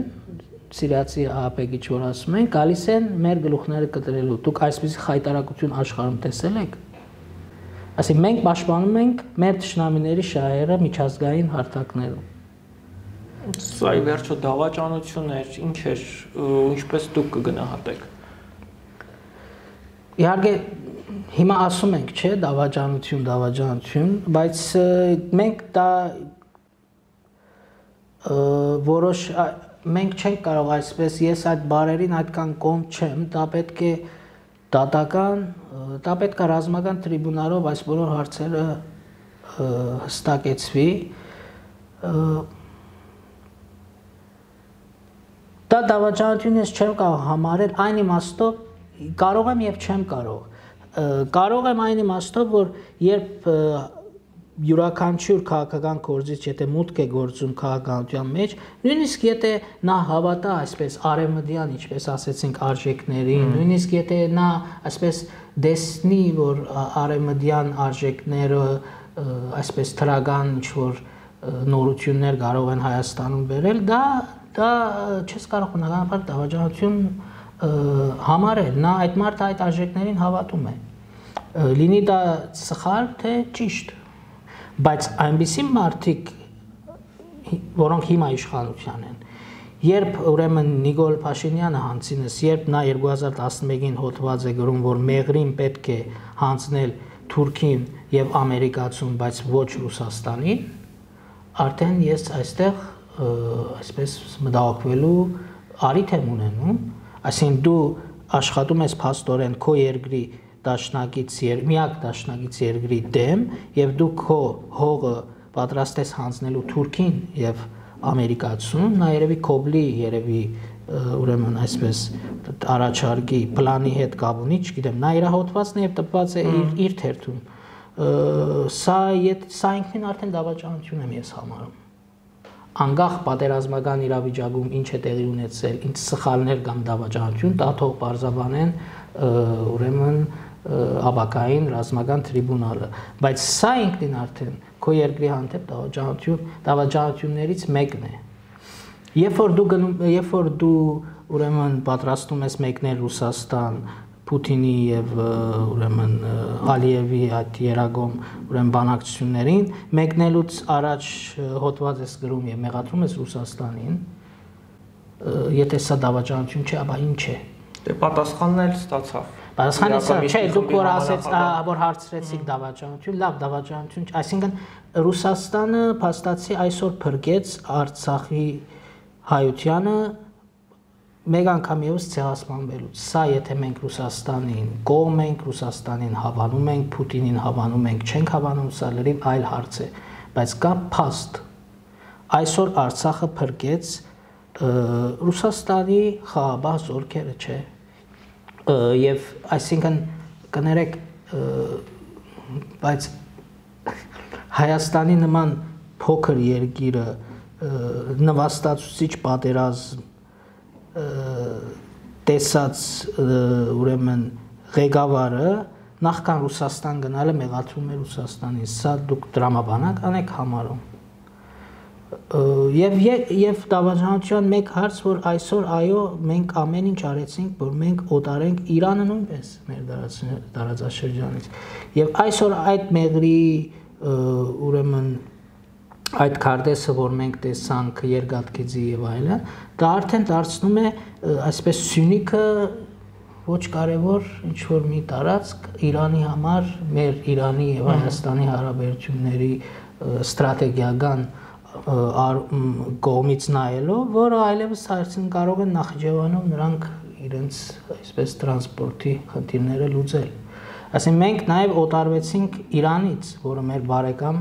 սիրիացի ահապեգիչ որ ասում են, գալիս են մեր գլուխները կտրելու։ Դուք այսպիսի խայտարակություն աշխարհում տեսել եք։ Այսինքն մենք պաշտպանում ենք մեր ճշնամիների շահերը միջազգային հարթակներում։ Սա ի վերջո դավաճանություն էր, ինչ էր, ինչպես դուք կգնահատեք։ Իհարկե հիմա ասում ենք, չէ, դավաճանություն, բայց մենք դա որոշ մենք չենք կարող այսպես, ես այդ բարերին այդքան կողմ չեմ, դա պետք է դատական, դա պետք է ռազմական տրիբունալով այս բոլոր հարցերը հստակեցվի։ Դա դավաճանություն ես չեմ կարող համարել այն իմաստով, կարող եմ եւ չեմ կարող։ Կարող եմ այն իմաստով, որ երբ յուրաքանչյուր քաղաքական գործիչ եթե մուտք է գործում քաղաքականության մեջ, նույնիսկ եթե նա հավատա այսպես արևմտյան, ինչպես ասեցինք, արժեքներին, նույնիսկ եթե նա այսպես դեսնի, որ արևմտյան արժեքները այսպես թրագան ինչ որ նորություններ կարող են Հայաստանում բերել, դա չես կարող բնականաբար դավաճանություն համարել, նա այդ մարդը այդ արժեքներին հավատում է։ Լինի դա սխալ, թե ճիշտ։ Բայց այնպիսի մարդիկ, որոնք հիմա իշխանության են, երբ ուրեմն Նիկոլ Փաշինյանը հանցինս, երբ նա 2011-ին հոդված է գրում, որ մեղրին պետք է հանձնել Թուրքին եւ Ամերիկացուն, բայց ոչ Ռուսաստանին, արդեն ես այստեղ այսպես մտահոգվելու առիթ եմ ունենում, այսինքն դու աշխատում ես փաստորեն քո երկրի միակ դաշնակից երկրի դեմ եւ դու քո հողը պատրաստ ես հանձնելու Թուրքին եւ Ամերիկացուն, նա երևի կոբլի, երևի ուրեմն այսպես առաջարկի պլանի հետ կապ ունի, չգիտեմ, նա իր հոդվածն եւ տպված է իր թերթում։ Սա ինքնին արդեն դավաճանություն եմ ես համարում։ Անկախ պատերազմական իրավիճակում ինչ է տեղի ունեցել, ինչ սխալներ կամ դավաճանություն, դա թող պարզաբանեն ուրեմն աբակային ռազմական տրիբունալը, բայց սա ինքնին արդեն քո երկրի հանդեպ դավաճանություններից մեկն է։ Երբ որ դու ուրեմն պատրաստում ես մեկնել Ռուսաստան, Պուտինի եւ ուրեմն Ալիևի այդ երագոմ ուրեմն բանակցություններին, մեկնելուց առաջ հոդված ես գրում եւ մեղադրում ես Ռուսաստանին, եթե սա դավաճանություն չէ, ապա ինչ է։ Դե պատասխանն էլ ստացավ։ Պատասխանը սա չէ, դուք որ ասեց, որ հարցրեցիք դավաճանություն, լավ դավաճանություն, այսինքն Ռուսաստանը փաստացի այսօր փրկեց Արցախի հայությանը մեկ անգամ եւս ցեղասպանվելուց։ Սա եթե մենք Ռուսաստանին կողմ ենք, Ռուսաստանին հավանում ենք, Պուտինին հավանում ենք, չենք հավանում, սա լրիվ այլ հարց է, բայց կա փաստ։ Այսօր Արցախը փրկեց Ռուսաստանի խաղաղ զորքերը, չէ։ Եվ այսինքն կներեք, բայց Հայաստանի նման փոքր երկիրը նվաստացուցիչ պատերազմ տեսած ուրեմն ղեկավարը նախքան Ռուսաստան գնալը մեղադրում է Ռուսաստանին, սա դուք դրամաբանական եք համարում։ Եվ դավաճանության մեկ հարց, որ այսօր այո, մենք ամեն ինչ արեցինք, որ մենք օտարենք Իրանը նույնպես մեր տարածաշրջանից։ Եվ այսօր այդ մեղրի ուրեմն այդ քարտեզը, որ մենք տեսանք երկաթգծի եւ այլն, դա արդեն դարձնում է այսպես Սյունիքը ոչ կարևոր ինչ որ մի տարածք Իրանի համար, մեր Իրանի եւ Հայաստանի հարաբերությունների ստրատեգիական կողմից նայելով, որը այլևս այսին կարող են Նախիջևանում նրանք իրենց այսպես տրանսպորտի խնդիրները լուծել։ Այսինքն մենք նաև օտարվեցինք Իրանից, որը մեր բարեկամ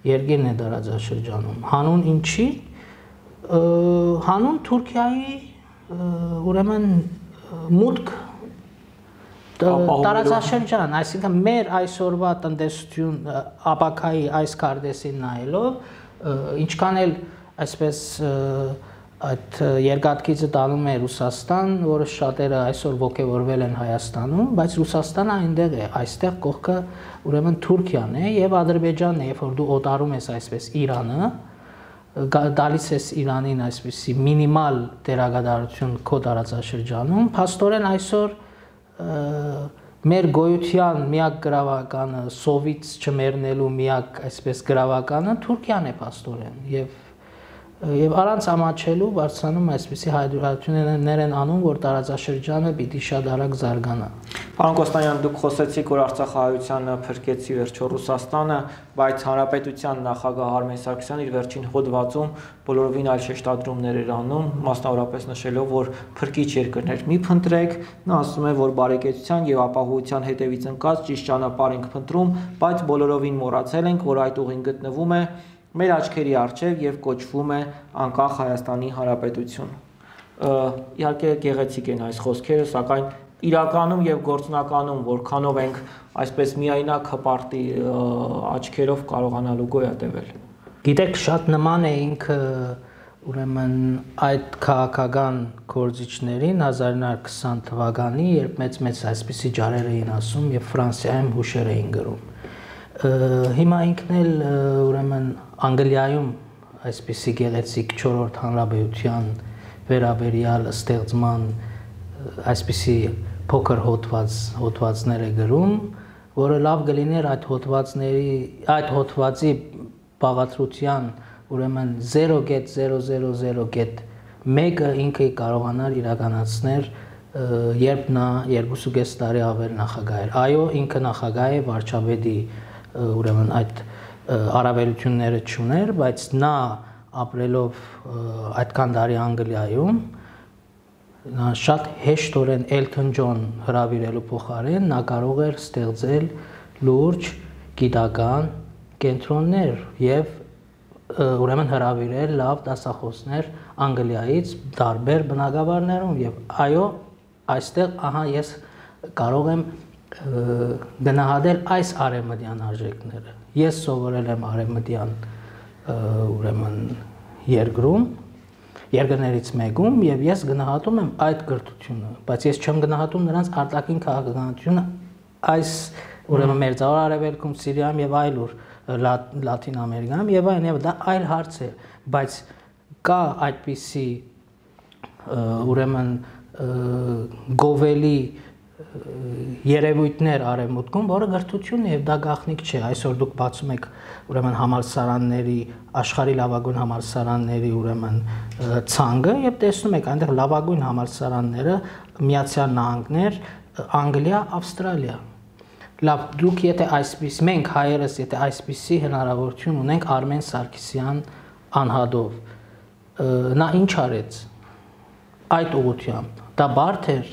երկիրն է տարածաշրջանում։ Հանուն ինչի։ Հանուն Թուրքիայի ուրեմն մուտք տարածաշրջան, այսինքն մեր այսօրվա տնտեսություն ապակայի այս քարտեզին նայելով ինչքան էլ այսպես այդ երկաթգիծը տանում է Ռուսաստան, որը շատերը այսօր ոգևորվել են Հայաստանում, բայց Ռուսաստանը այնտեղ է, այստեղ կողքը ուրեմն Թուրքիան է եւ Ադրբեջանն է, երբ որ դու օտարում ես այսպես Իրանը, դալիս ես Իրանին այսպեսի մինիմալ դերակատարություն քո տարածաշրջանում, փաստորեն այսօր մեր գոյության միակ գրավականը, սովից չմեռնելու միակ այսպես գրավականը Թուրքիան է փաստորեն եւ առանց ամաչելու բարձրանում այսպեսի հայտարարություններ են անում, որ տարածաշրջանը պիտի շատ արագ զարգանա։ Պարոն Կոստանյան, դուք խոսեցիք, որ Արցախահայությանը փրկեցի վերջո Ռուսաստանը, բայց Հանրապետության նախագահ Արմեն Սարգսյանն իր վերջին հոդվածում բոլորովին այլ շեշտադրումներ էր անում, մասնավորապես նշելով, որ փրկիչ երկրներ մի փնտրեք, նա ասում է, որ բարեկեցության եւ ապահովության հետևից ընկած ճիշտ ճանապարհ ենք փնտրում, բայց բոլորովին մոռացել ենք, որ այդ ուղին գտնվում է մեր աչքերի առջև եւ կոչվում է անկախ Հայաստանի Հանրապետություն։ Իհարկե գեղեցիկ են այս խոսքերը, սակայն իրականում եւ գործնականում որքանով ենք այսպես միայնակ հպարտի աչքերով կարողանալու գոյատևել։ Գիտեք, շատ նման է ինքը ուրեմն այդ քաղաքական գործիչներին 1920 թվականի, երբ մեծ այսպիսի ջարեր էին ասում եւ Ֆրանսիայում հուշեր էին գրում։ Հիմա ինքն էլ ուրեմն Անգլիայում այսպիսի գեղեցիկ 4-րդ հանրապետության վերաբերյալ ստեղծման այսպիսի փոքր հոդվածներ է գրում, որը լավ կլիներ այդ հոդվածի բաղադրության ուրեմն 0.000.1-ը ինքը կարողանար իրականացնել, երբ նա 2.5 տարի ավել նախագահ էր։ Այո, ինքը նախագահ է, վարչապետի ուրեմն այդ առավելությունները չուներ, բայց նա ապրելով այդքան տարի Անգլիայում, նա շատ հեշտորեն Էլթոն Ջոն հրավիրելու փոխարեն նա կարող էր ստեղծել լուրջ գիտական կենտրոններ եւ ուրեմն հրավիրել լավ դասախոսներ Անգլիայից տարբեր բնակավարներում եւ այո, այստեղ ահա ես կարող եմ գնահատել այս արևմտյան արժեքները։ Ես սովորել եմ արևմտյան ուրեմն երկրներից մեկում եւ ես գնահատում եմ այդ կրթությունը, բայց ես չեմ գնահատում նրանց արտաքին քաղաքականությունը այս ուրեմն Մերձավոր Արևելքում, Սիրիայում եւ այլուր Լատին Ամերիկայում եւ այլն, դա այլ հարց է, բայց կա այդպիսի ուրեմն գովելի երևույթներ արևմուտքում, որը գրթությունն է եւ դա գաղտնիք չէ։ Այսօր դուք բացում եք ուրեմն համալսարանների, աշխարհի լավագույն համալսարանների ուրեմն ցանկը եւ տեսնում եք այնտեղ լավագույն համալսարանները Միացյալ Նահանգներ, Անգլիա, Ավստրալիա։ Լավ, դուք եթե այսպես մենք հայերս եթե այսպիսի հնարավորություն ունենք Արմեն Սարգսյան անհադով, նա ինչ արեց այդ ուղղությամբ, դա բարդ էր։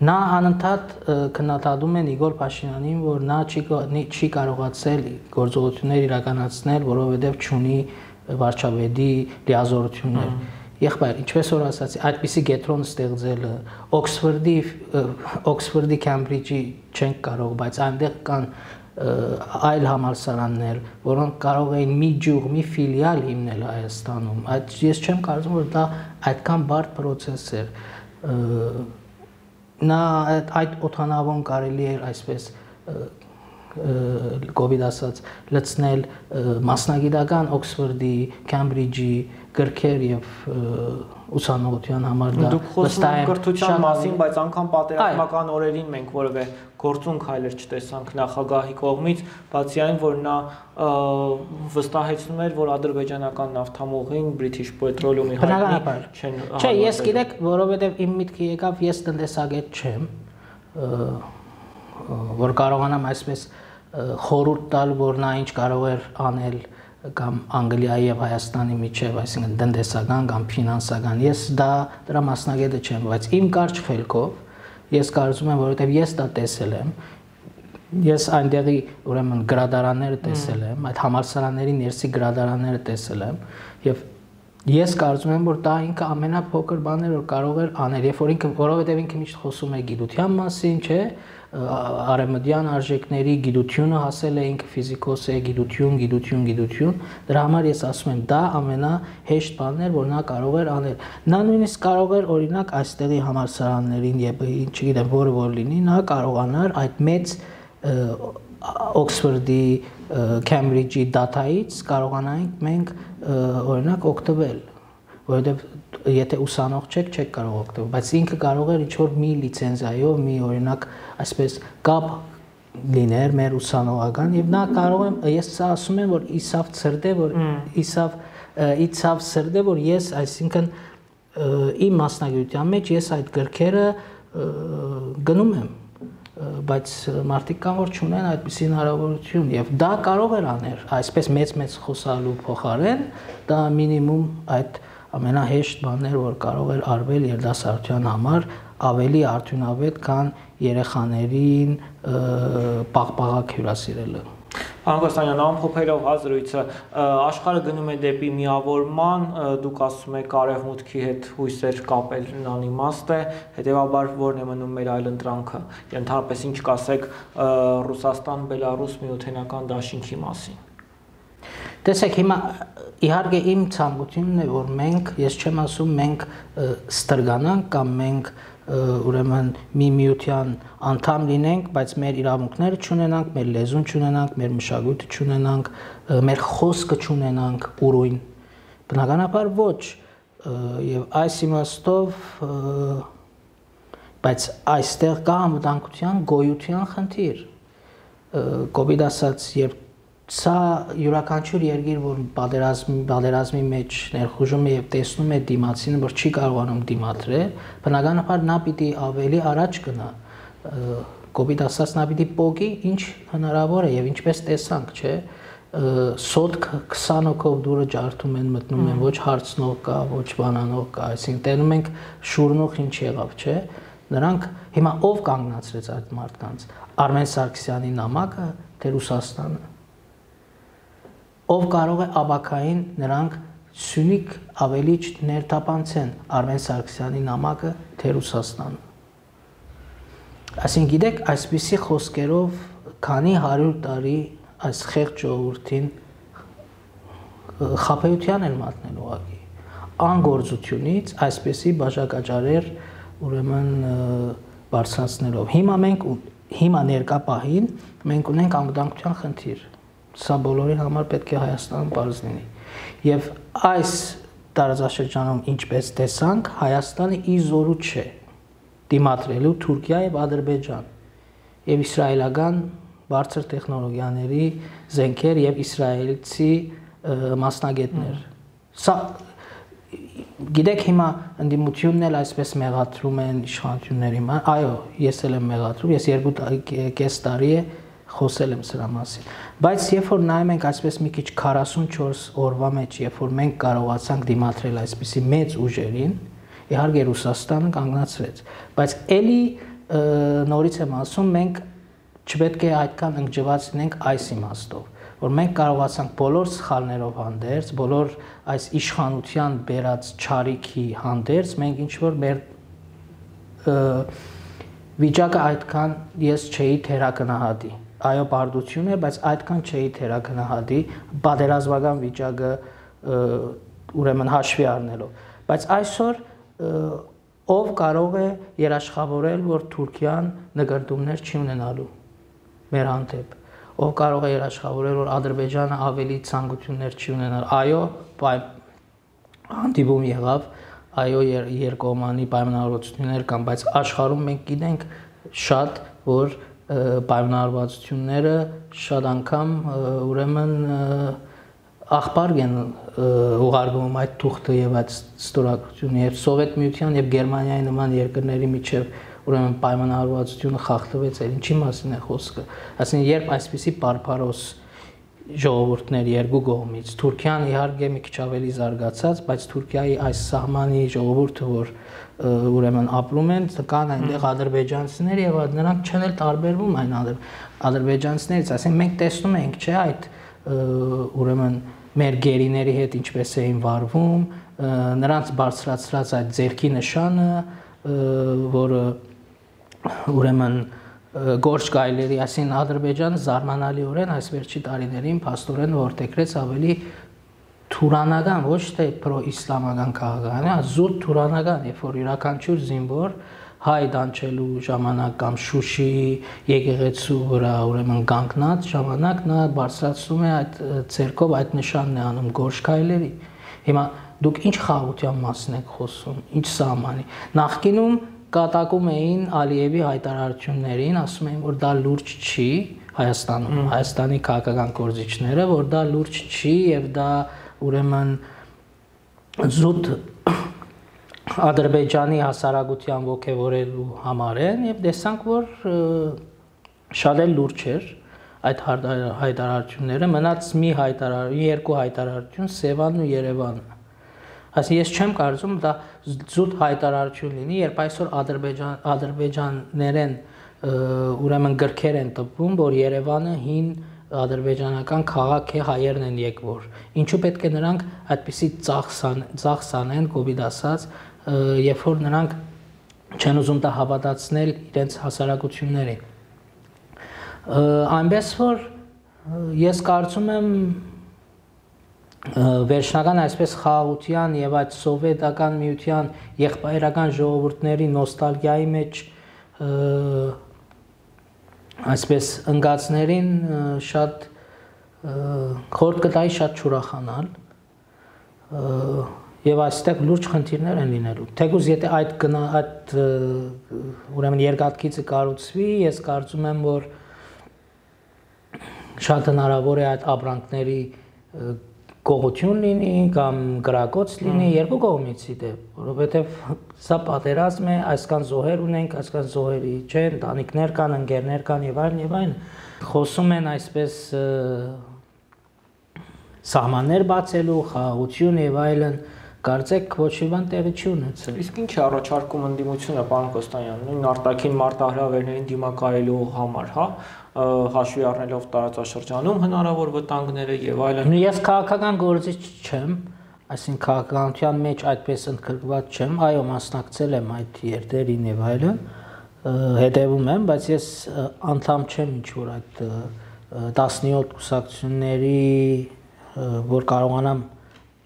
Նա անընդհատ քննադատում է Նիկոլ Փաշինյանին, որ նա չի կարողացել գործողություններ իրականացնել, որովհետև չունի վարչապետի լիազորություններ։ Եղբայր, ինչպես որ ասացի, այդպիսի կենտրոն ստեղծելը Օքսֆորդի, Քեմբրիջի չենք կարող, բայց այնտեղ կան այլ համալսարաններ, որոնք կարող էին մի ջուղ, մի ֆիլիալ հիմնել Հայաստանում։ Ես չեմ կարծում, որ դա այդքան բարդ process էր։ Նա այդ օդանավոն կարելի էր այսպես COVID ասած լցնել մասնագիտական Օքսֆորդի, Քամբրիջի գրքեր եւ ուսանողության համար դա դուք խոսում եք կրթության մասին, բայց անգամ պատերազմական օրերին մենք որևէ գործունք հայլեր չտեսանք նախագահի կողմից, բացի այն, որ նա վստահեցնում էր, որ ադրբեջանական նավթամուղին British Petroleum-ի հայտնի չեն։ Չէ, ես գիտեք, որովհետև իմ միտքը եկավ, ես տնտեսագետ չեմ, որ կարողանամ այսպես խորհուրդ տալ, որ նա ինչ կարող էր անել կամ Անգլիայի եւ Հայաստանի միջև, այսինքն տնտեսական կամ ֆինանսական։ Ես դրա մասնագետը չեմ, բայց իմ կարճ խելքով ես կարծում եմ, որովհետև ես դա տեսել եմ, ես այնտեղի ուրեմն գրադարանները տեսել եմ, այդ համալսարանների ներսի գրադարանները տեսել եմ եւ ես կարծում եմ, որ դա ինքը ամենափոքր բանն էր, որ կարող էր անել, երբ որ ինքը, որովհետև ինքը միշտ խոսում է գիտության մասին, չէ, արևմտյան արժեքների գիտությունը հասել է, ինքը ֆիզիկոս է, գիտություն, դրա համար ես ասում եմ, դա ամենահեշտ բանն էր, որ նա կարող էր անել։ Նա նույնիսկ կարող էր օրինակ այստեղի համալսարաններին եւ չգիտեմ որը որ լինի, նա կարողանար այդ մեծ Օքսֆորդի, Քամբրիջի դատայից կարողանանք մենք օրինակ օգտվել, որովհետև եթե ուսանող չեք կարող օգտվել, բայց ինքը կարող էր ինչ-որ մի լիցենզիայով, մի օրինակ այսպես կապ լիներ մեր ուսանողական եւ նա կարող եմ, ես սա ասում եմ, որ իցավ սրդե, որ ես, այսինքն իմ մասնագիտության մեջ ես այդ գրքերը գնում եմ, բայց մարդիկ կան, որ չունեն այդպիսի հնարավորություն եւ դա կարող էր անել, այսպես մեծ խոսալու փոխարեն, դա մինիմում այդ ամենահեշտ բանն էր, որ կարող էր արվել երիտասարդության համար ավելի արդյունավետ, քան երեխաներին պաղպաղակ հյուրասիրելը։ Պարոն Կոստանյան, ամփոփելով զրույցը, աշխարհը գնում է դեպի միավորման, դուք ասում եք արևմուտքի հետ հույսեր կապելն անիմաստ է, հետեւաբար որն է մնում մեր այլընտրանքը, ընդհանրապես ինչ կասեք Ռուսաստան-Բելարուս միութենական դաշինքի մասին։ Տեսեք, հիմա իհարկե իմ ցանկությունն է, որ մենք, ես չեմ ասում մենք ստրգանանք կամ մենք ուրեմն մի միության անդամ լինենք, բայց մեր իրավունքները չունենանք, մեր լեզուն չունենանք, մեր մշակույթը չունենանք, մեր խոսքը չունենանք ուրույն։ Բնականաբար ոչ, եւ այս իմաստով, բայց այստեղ կա անվտանգության գոյության խնդիր։ COVID ասած, երբ սա յուրաքանչյուր երկիր, որ պատերազմի մեջ ներխուժում է եւ տեսնում է դիմացին, որ չի կարողանում դիմադրել, բնականաբար նա պիտի ավելի առաջ գնա։ COVID ասած նա պիտի պոկի, ինչ հնարավոր է եւ ինչպես տեսանք, չէ, սոտք 20 հոգով դուրը ջարդում են, մտնում են, ոչ հարցնող կա, ոչ բանանող կա, այսինքն տենում ենք շուրնող ինչ եղավ, չէ։ Նրանք հիմա ով կանգնացրեց այդ մարդկանց։ Արմեն Սարգսյանի նամակը, թե Ռուսաստանը։ Ով կարող է աբակային նրանք Սյունիք ավելի ներթափանցեն Արմեն Սարգսյանի նամակը, թե Ռուսաստանը։ Այսինքն գիտեք, այսպիսի խոսքերով քանի 100 տարի այս խեղճ ժողովրդին խաբեության են մատնել ուղղակի։ Անգործությունից այսպիսի բաժակաճարեր ուրեմն բարձրացնելով։ Հիմա ներկա պահին մենք ունենք անվտանգության խնդիր։ Սա բոլորի համար պետք է Հայաստանում պարզ լինի։ Եվ այս տարածաշրջանում ինչպես տեսանք, Հայաստանը իր զորու չէ դիմադրելու Թուրքիա եւ Ադրբեջան եւ իսրայելական բարձր տեխնոլոգիաների զենքեր եւ իսրայելցի մասնագետներ։ Սա գիտեք հիմա ընդդիմությունն էլ այսպես մեղադրում են իշխանությունների համար։ Այո, ես էլ եմ մեղադրում, ես 2.5 տարի է խոսել եմ սրա մասին, բայց երբ որ նայում ենք այսպես մի քիչ 44 օրվա մեջ, երբ որ մենք կարողացանք դիմադրել այսպիսի մեծ ուժերին, իհարկե Ռուսաստանը կանգնացրեց, բայց էլի նորից եմ ասում, մենք չպետք է այդքան ընկճված լինենք այս իմաստով, որ մենք կարողացանք բոլոր սխալներով հանդերձ, բոլոր այս իշխանության բերած չարիքի հանդերձ, մենք ինչ որ մեր վիճակը այդքան ես չէի թերակնահատի։ Այո, բարդություն է, բայց այդքան չէի թերակնահատի պատերազմական վիճակը ուրեմն հաշվի առնելով։ Բայց այսօր ով կարող է երաշխավորել, որ Թուրքիան նկարտումներ չի ունենալու մեր հանդեպ։ ով կարող է երաշխավորել, որ Ադրբեջանը ավելի ցանկություններ չի ունենալ։ Այո, հանդիպում եղավ, այո, երկկողմանի պայմանավորվածություններ կան, բայց աշխարհում մենք գիտենք շատ, որ պայմանավորվածությունները շատ անգամ ուրեմն աղբար են ուղարկվում այդ թուղթը եւ այդ ստորագրությունը եւ Սովետ Միության եւ Գերմանիայի նման երկրների միջև ուրեմն պայմանավորվածությունը խախտվեց, ինչի մասին է խոսքը։ Այսինքն երբ այսպիսի բարբարոս ժողովուրդներ երկու կողմից, Թուրքիան իհարկե մի քիչ ավելի զարգացած, բայց Թուրքիայի այս սահմանի ժողովուրդը, որ ուրեմն ապրում են, կան այնտեղ ադրբեջանցիներ եւ նրանք չեն էլ տարբերվում այն ադրբեջանցիներից, այսինքն մենք տեսնում ենք, չէ, այդ ուրեմն մեր գերիների հետ ինչպես էին վարվում, նրանց բարձրացրած այդ ձերքի նշանը, որը ուրեմն գործ գայլերի, այսինքն Ադրբեջանը զարմանալիորեն այս վերջի տարիներին փաստորեն որդեգրեց ավելի թուրանական, ոչ թե պրոիսլամական քաղաքական, զուտ թուրանական, երբ որ յուրաքանչյուր զինվոր հայ դանչելու ժամանակ կամ Շուշի եկեղեցու վրա ուրեմն կանգնած ժամանակ նա բարձրացնում է այդ ցերկով այդ նշանն է անում գործ գայլերի։ Հիմա դուք ինչ խաղաղության մասին եք խոսում, ինչ սահմանի։ Նախկինում կատակում էին Ալիևի հայտարարություններին, ասում էին, որ դա լուրջ չի Հայաստանում, Հայաստանի քաղաքական գործիչները, որ դա լուրջ չի եւ դա ուրեմն զուտ Ադրբեջանի հասարակության ոգևորելու համար են եւ տեսանք, որ շատ էլ լուրջ էր այդ հայտարարությունները, մնաց երկու հայտարարություն Սևանն ու Երևանը։ Այսինքն ես չեմ կարծում դա զուտ հայտարարություն լինի, երբ այսօր ադրբեջաներեն ուրեմն գրքեր են տպվում, որ Երևանը հին ադրբեջանական քաղաք է, հայերն են եկվոր։ Ինչու պետք է նրանք այդպիսի ծախս անեն, կոպիտ ասած, երբ որ նրանք չեն ուզում դա հավատացնել իրենց հասարակություններին։ Այնպես որ ես կարծում եմ վերջնական այսպես խաղաղության եւ այդ սովետական միության եղբայրական ժողովուրդների նոստալգիայի մեջ այսպես ընկածներին շատ խորտ կտայի շատ չուրախանալ եւ այստեղ լուրջ խնդիրներ են լինելու։ Թեկուզ եթե այդ ուրեմն երկաթգիծը կառուցվի, ես կարծում եմ, որ շատ հնարավոր է այդ ապրանքների կողություն լինի կամ գրակոց լինի երկու կողմից դեպ, որովհետև սա պատերազմ է, այսքան զոհեր ունենք, այսքան զոհերի չէ, ընտանիքներ կան, ընկերներ կան եւ այլն եւ այլն։ Խոսում են այսպես սահմաններ բացելու, խաղաղություն եւ այլն, կարծեք ոչ մի բան տեղի չի ունեցել։ Իսկ ինչ է առաջարկում ընդդիմությունը, պարոն Կոստանյան, նույն արտաքին մարտահրավերներին դիմակայելու համար, հա, հաշվի առնելով տարածաշրջանում հնարավոր վտանգները եւ այլն։ Ես քաղաքական գործիչ չեմ, այսինքն քաղաքականության մեջ այդպես ընդգրկված չեմ, այո, մասնակցել եմ այդ երթերին եւ այլն, հետևում եմ, բայց ես անդամ չեմ ինչ որ այդ 17 կուսակցությունների, որ կարողանամ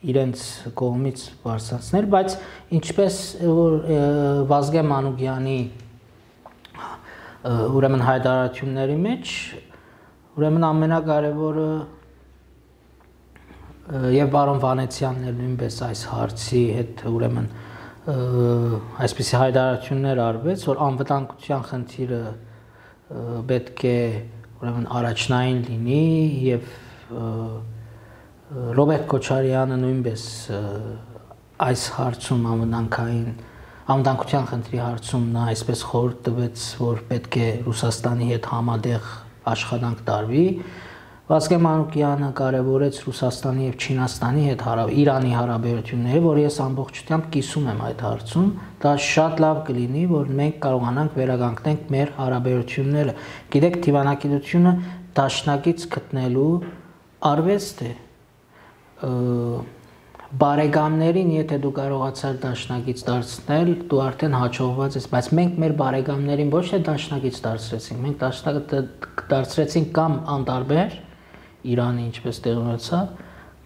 իրենց կողմից բարձրացնել, բայց ինչպես որ Վազգեն Մանուկյանի ուրեմն հայտարարությունների մեջ ուրեմն ամենակարևորը եւ պարոն Վանեցյանն էլ նույնպես այս հարցի հետ ուրեմն այսպիսի հայտարարություններ արվեց, որ անվտանգության խնդիրը պետք է ուրեմն առաջնային լինի եւ Ռոբերտ Քոչարյանը նույնպես այս հարցում անվտանգության խնդրի հարցում նա այսպես խորհուրդ տվեց, որ պետք է Ռուսաստանի հետ համատեղ աշխատանք տարվի։ Վազգեն Մանուկյանը կարևորեց Ռուսաստանի եւ Չինաստանի հետ Իրանի հարաբերությունները, որ ես ամբողջությամբ կիսում եմ այդ հարցում, դա շատ լավ կլինի, որ մենք կարողանանք վերականգնենք մեր հարաբերությունները։ Գիտեք, դիվանագիտությունը դաշնակից գտնելու արվեստ է։ Բարեկամներին, եթե դու կարողացար դաշնակից դարձնել, դու արդեն հաջողված ես, բայց մենք մեր բարեկամներին ոչ թե դաշնակից դարձրեցինք, մենք դարձրեցինք կամ անտարբեր Իրանը ինչպես տեղի ունեցավ,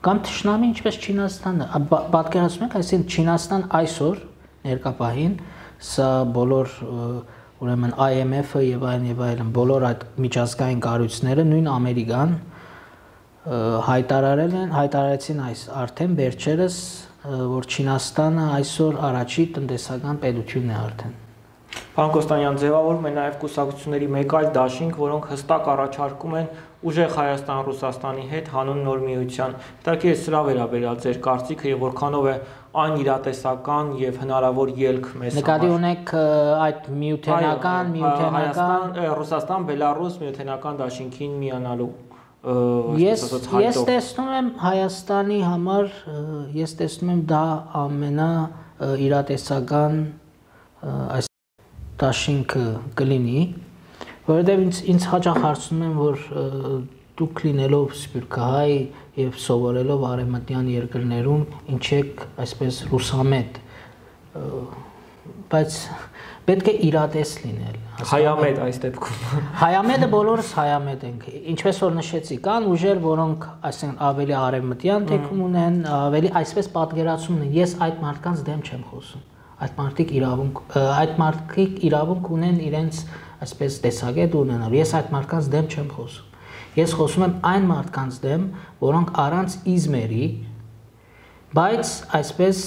կամ թշնամի ինչպես Չինաստանը։ Պատկերացնում եք, այսինքն Չինաստան այսօր ներկա պահին սա բոլոր ուրեմն IMF-ը եւ այլն բոլոր այդ միջազգային կառույցները նույն Ամերիկան հայտարարեցին այս արդեն վերջերս որ Չինաստանը այսօր առաջի տնտեսական պետությունն է արդեն։ Պարոն Կոստանյան, ձևավորում է նաև կուսակցությունների մեկ այլ դաշինք, որոնք հստակ առաջարկում են ուժեղ Հայաստան Ռուսաստանի հետ հանուն նոր միության։ Հետաքրքիր է սրա վերաբերյալ ձեր կարծիքը եւ որքանով է այն իրատեսական եւ հնարավոր ելք մեզ համար։ Նկատի ունեք այդ միութենական Ռուսաստան, Բելարուս միութենական դաշինքին միանալու Ես տեսնում եմ Հայաստանի համար, ես տեսնում եմ դա ամենա իրատեսական այս դաշինքը կլինի, որովհետև ինձ հաճախ հարցնում են, որ դուք լինելով սփյուռքահայ եւ սովորելով արևմտյան երկրներում, ինչ եք այսպես ռուսամետ, բայց պետք է իրատես լինել։ Հայամետ այս դեպքում։ Հայամետը բոլորս հայամետ ենք։ Ինչպես որ նշեցի, կան ուժեր, որոնք այսինքն ավելի արևմտյան թեքում ունեն, ավելի այսպես պատկերացում ունեն։ Ես այդ մարդկանց դեմ չեմ խոսում։ Այդ մարդիկ իրավունք ունեն իրենց այսպես տեսակետ ունենալ։ Ես այդ մարդկանց դեմ չեմ խոսում։ Ես խոսում եմ այն մարդկանց դեմ, որոնք առանց իզմերի, բայց այսպես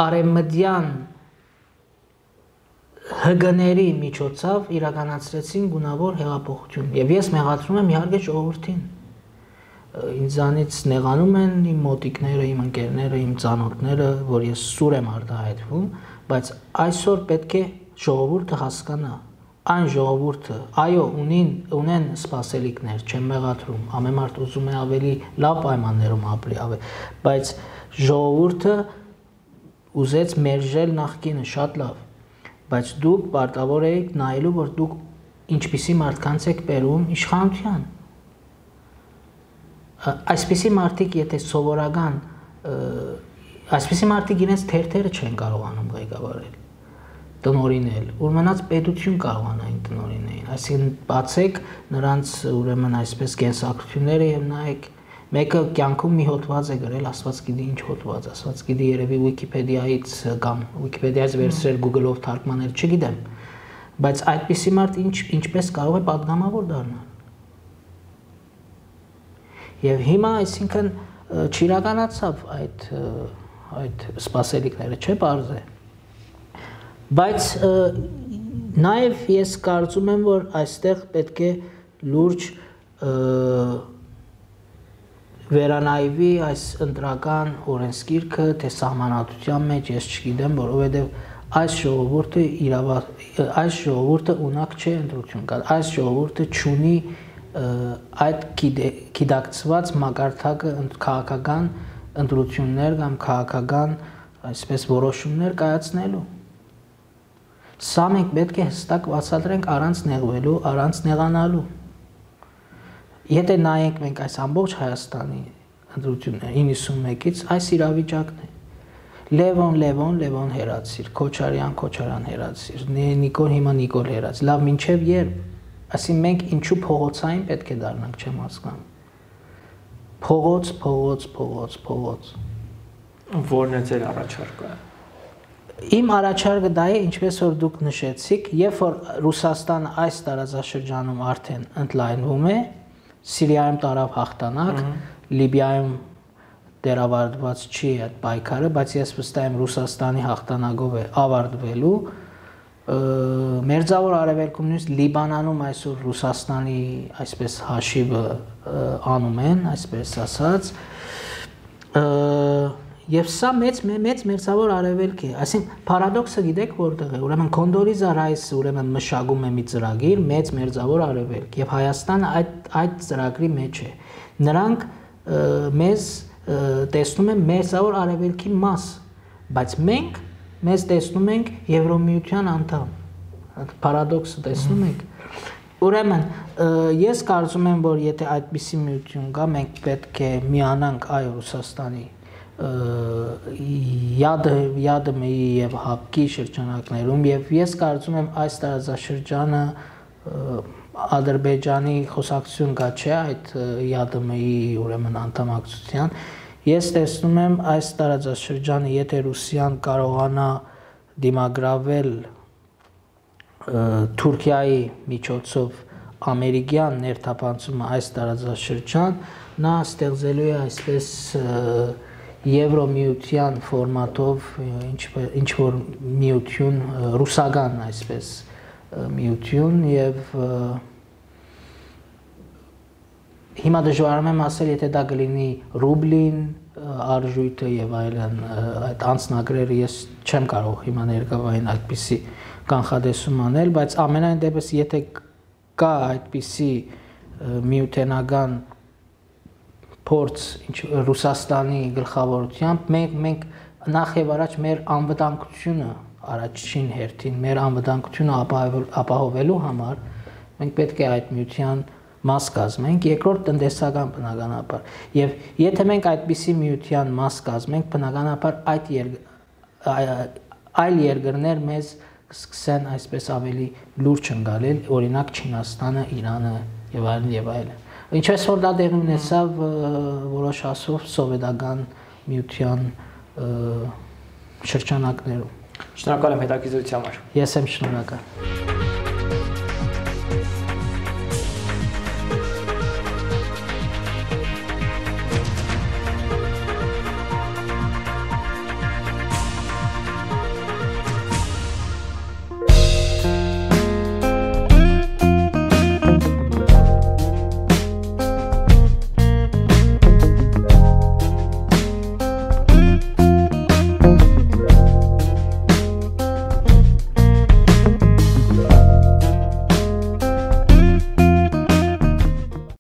արևմտյան հգների միջոցով իրականացրեցին գունավոր հեղափոխություն։ Եվ ես մեղադրում եմ իհարկե ժողովրդին։ Ինձանից նեղանում են իմ մոտիկները, իմ ընկերները, իմ ծանոթները, որ ես սուր եմ արտահայտվում, բայց այսօր պետք է ժողովուրդը հասկանա, այն ժողովուրդը, այո, ունեն սպասելիքներ, չեմ մեղադրում, ամեն մարդ ուզում է ավելի լավ պայմաններում ապրի, բայց ժողովուրդը ուզեց մերժել նախկինը շատ լավ, բայց դուք պարտավոր եք նայելու, որ դուք ինչպիսի մարդկանց եք բերում իշխանության։ Այսպիսի մարդիկ, եթե սովորական, այսպիսի մարդիկ իրենց թերթերը չեն կարողանում ղեկավարել, տնօրինել, որ մնաց պետություն կարողանային տնօրինեին, այսինքն բացեք նրանց ուրեմն այսպես կենսակրթությունները եւ նայեք, մեկը կյանքում մի հոդված է գրել, Աստված գիտի ինչ հոդված, Աստված գիտի երևի Վիկիպեդիայից կամ Վիկիպեդիայից վերցրել Google-ով թարգմանել, չգիտեմ, բայց այդպիսի մարդ ինչպես կարող է պատգամավոր դառնալ։ Եվ հիմա այսինքն չիրականացավ այդ սպասելիքները, չէ՞ պարզ է։ Բայց նաև ես կարծում եմ, որ այստեղ պետք է լուրջ վերանայվի այս ընտրական օրենսգիրքը, թե սահմանադրության մեջ, ես չգիտեմ, որովհետև այս ժողովուրդը ունակ չէ ընտրություն կա, այս ժողովուրդը չունի այդ գիտակցված մակարդակը քաղաքական ընտրություններ կամ քաղաքական այսպես որոշումներ կայացնելու։ Սա մենք պետք է հստակ բացատրենք առանց նեղվելու, առանց նեղանալու։ Եթե նայենք մենք այս ամբողջ Հայաստանի ընտրությունները 91-ից այս իրավիճակն է։ Լևոն հերացիր, Քոչարյան հերացիր, Նիկոլ հիմա Նիկոլ հերացիր։ Լավ, մինչև երբ։ Այսինքն մենք ինչու փողոցային պետք է դառնանք, չեմ հասկանում։ Փողոց։ Որն է ձեր առաջարկը։ Իմ առաջարկը դա է, ինչպես որ դուք նշեցիք, երբ որ Ռուսաստանը այս տարածաշրջանում արդեն ընդլայնվում է, Սիրիայում տարավ հաղթանակ, Լիբիայում դերավարտված չի այդ պայքարը, բայց ես վստահ եմ Ռուսաստանի հաղթանակով է ավարտվելու, Մերձավոր Արևելքում նույնիսկ Լիբանանում այսօր Ռուսաստանի այսպես հաշիվը անում են, այսպես ասած, եւ սա մեծ Մերձավոր Արևելք է, այսինքն պարադոքսը գիտեք որտեղ է, ուրեմն Կոնդոլիզա Ռայսը ուրեմն մշակում է մի ծրագիր մեծ Մերձավոր Արևելք եւ Հայաստանը այդ ծրագրի մեջ է։ Նրանք մեզ տեսնում են Մերձավոր Արևելքի մաս, բայց մենք մեզ տեսնում ենք Եվրոմիության անդամ։ Պարադոքսը տեսնում եք։ Ուրեմն ես կարծում եմ, որ եթե այդպիսի միություն կա, մենք պետք է միանանք այո Ռուսաստանի ԵԱԴՄ-ի եւ ՀԱՊԿ-ի շրջանակներում եւ ես կարծում եմ այս տարածաշրջանը Ադրբեջանի խոսակցություն կա չէ այդ ԵԱԴՄ-ի ուրեմն անդամակցության Ես տեսնում եմ այս տարածաշրջանը, եթե Ռուսիան կարողանա դիմագրավել Թուրքիայի միջոցով ամերիկյան ներթափանցումը այս տարածաշրջան նա ստեղծելու է այսպես Եվրոմիության ֆորմատով ինչ որ միություն ռուսական այսպես միություն եւ հիմա դժվարում եմ ասել եթե դա կլինի ռուբլին արժույթը եւ այլն այդ անձնագրերը ես չեմ կարող հիմա ներկայային այդպիսի կանխատեսում անել բայց ամենայն դեպս եթե կա այդպիսի միութենական փորձ ինչ Ռուսաստանի գլխավորությամբ մենք նախ եւ առաջ մեր անվտանգությունը առաջին հերթին մեր անվտանգությունը ապահովելու համար մենք պետք է այդ միության մաս կազմենք երկրորդ տնտեսական բնականաբար եւ եթե մենք այդպիսի միության մաս կազմենք բնականաբար այլ երկրներ մեզ կսկսեն այսպես ավելի լուրջ ընկալել օրինակ Չինաստանը, Իրանը եւ այլն եւ այլն ինչպես որ դա դեր ունեցավ որոշ ասով սովետական միության շրջանակներում Շնորհակալ եմ հետաքրքրության համար Ես եմ շնորհակալ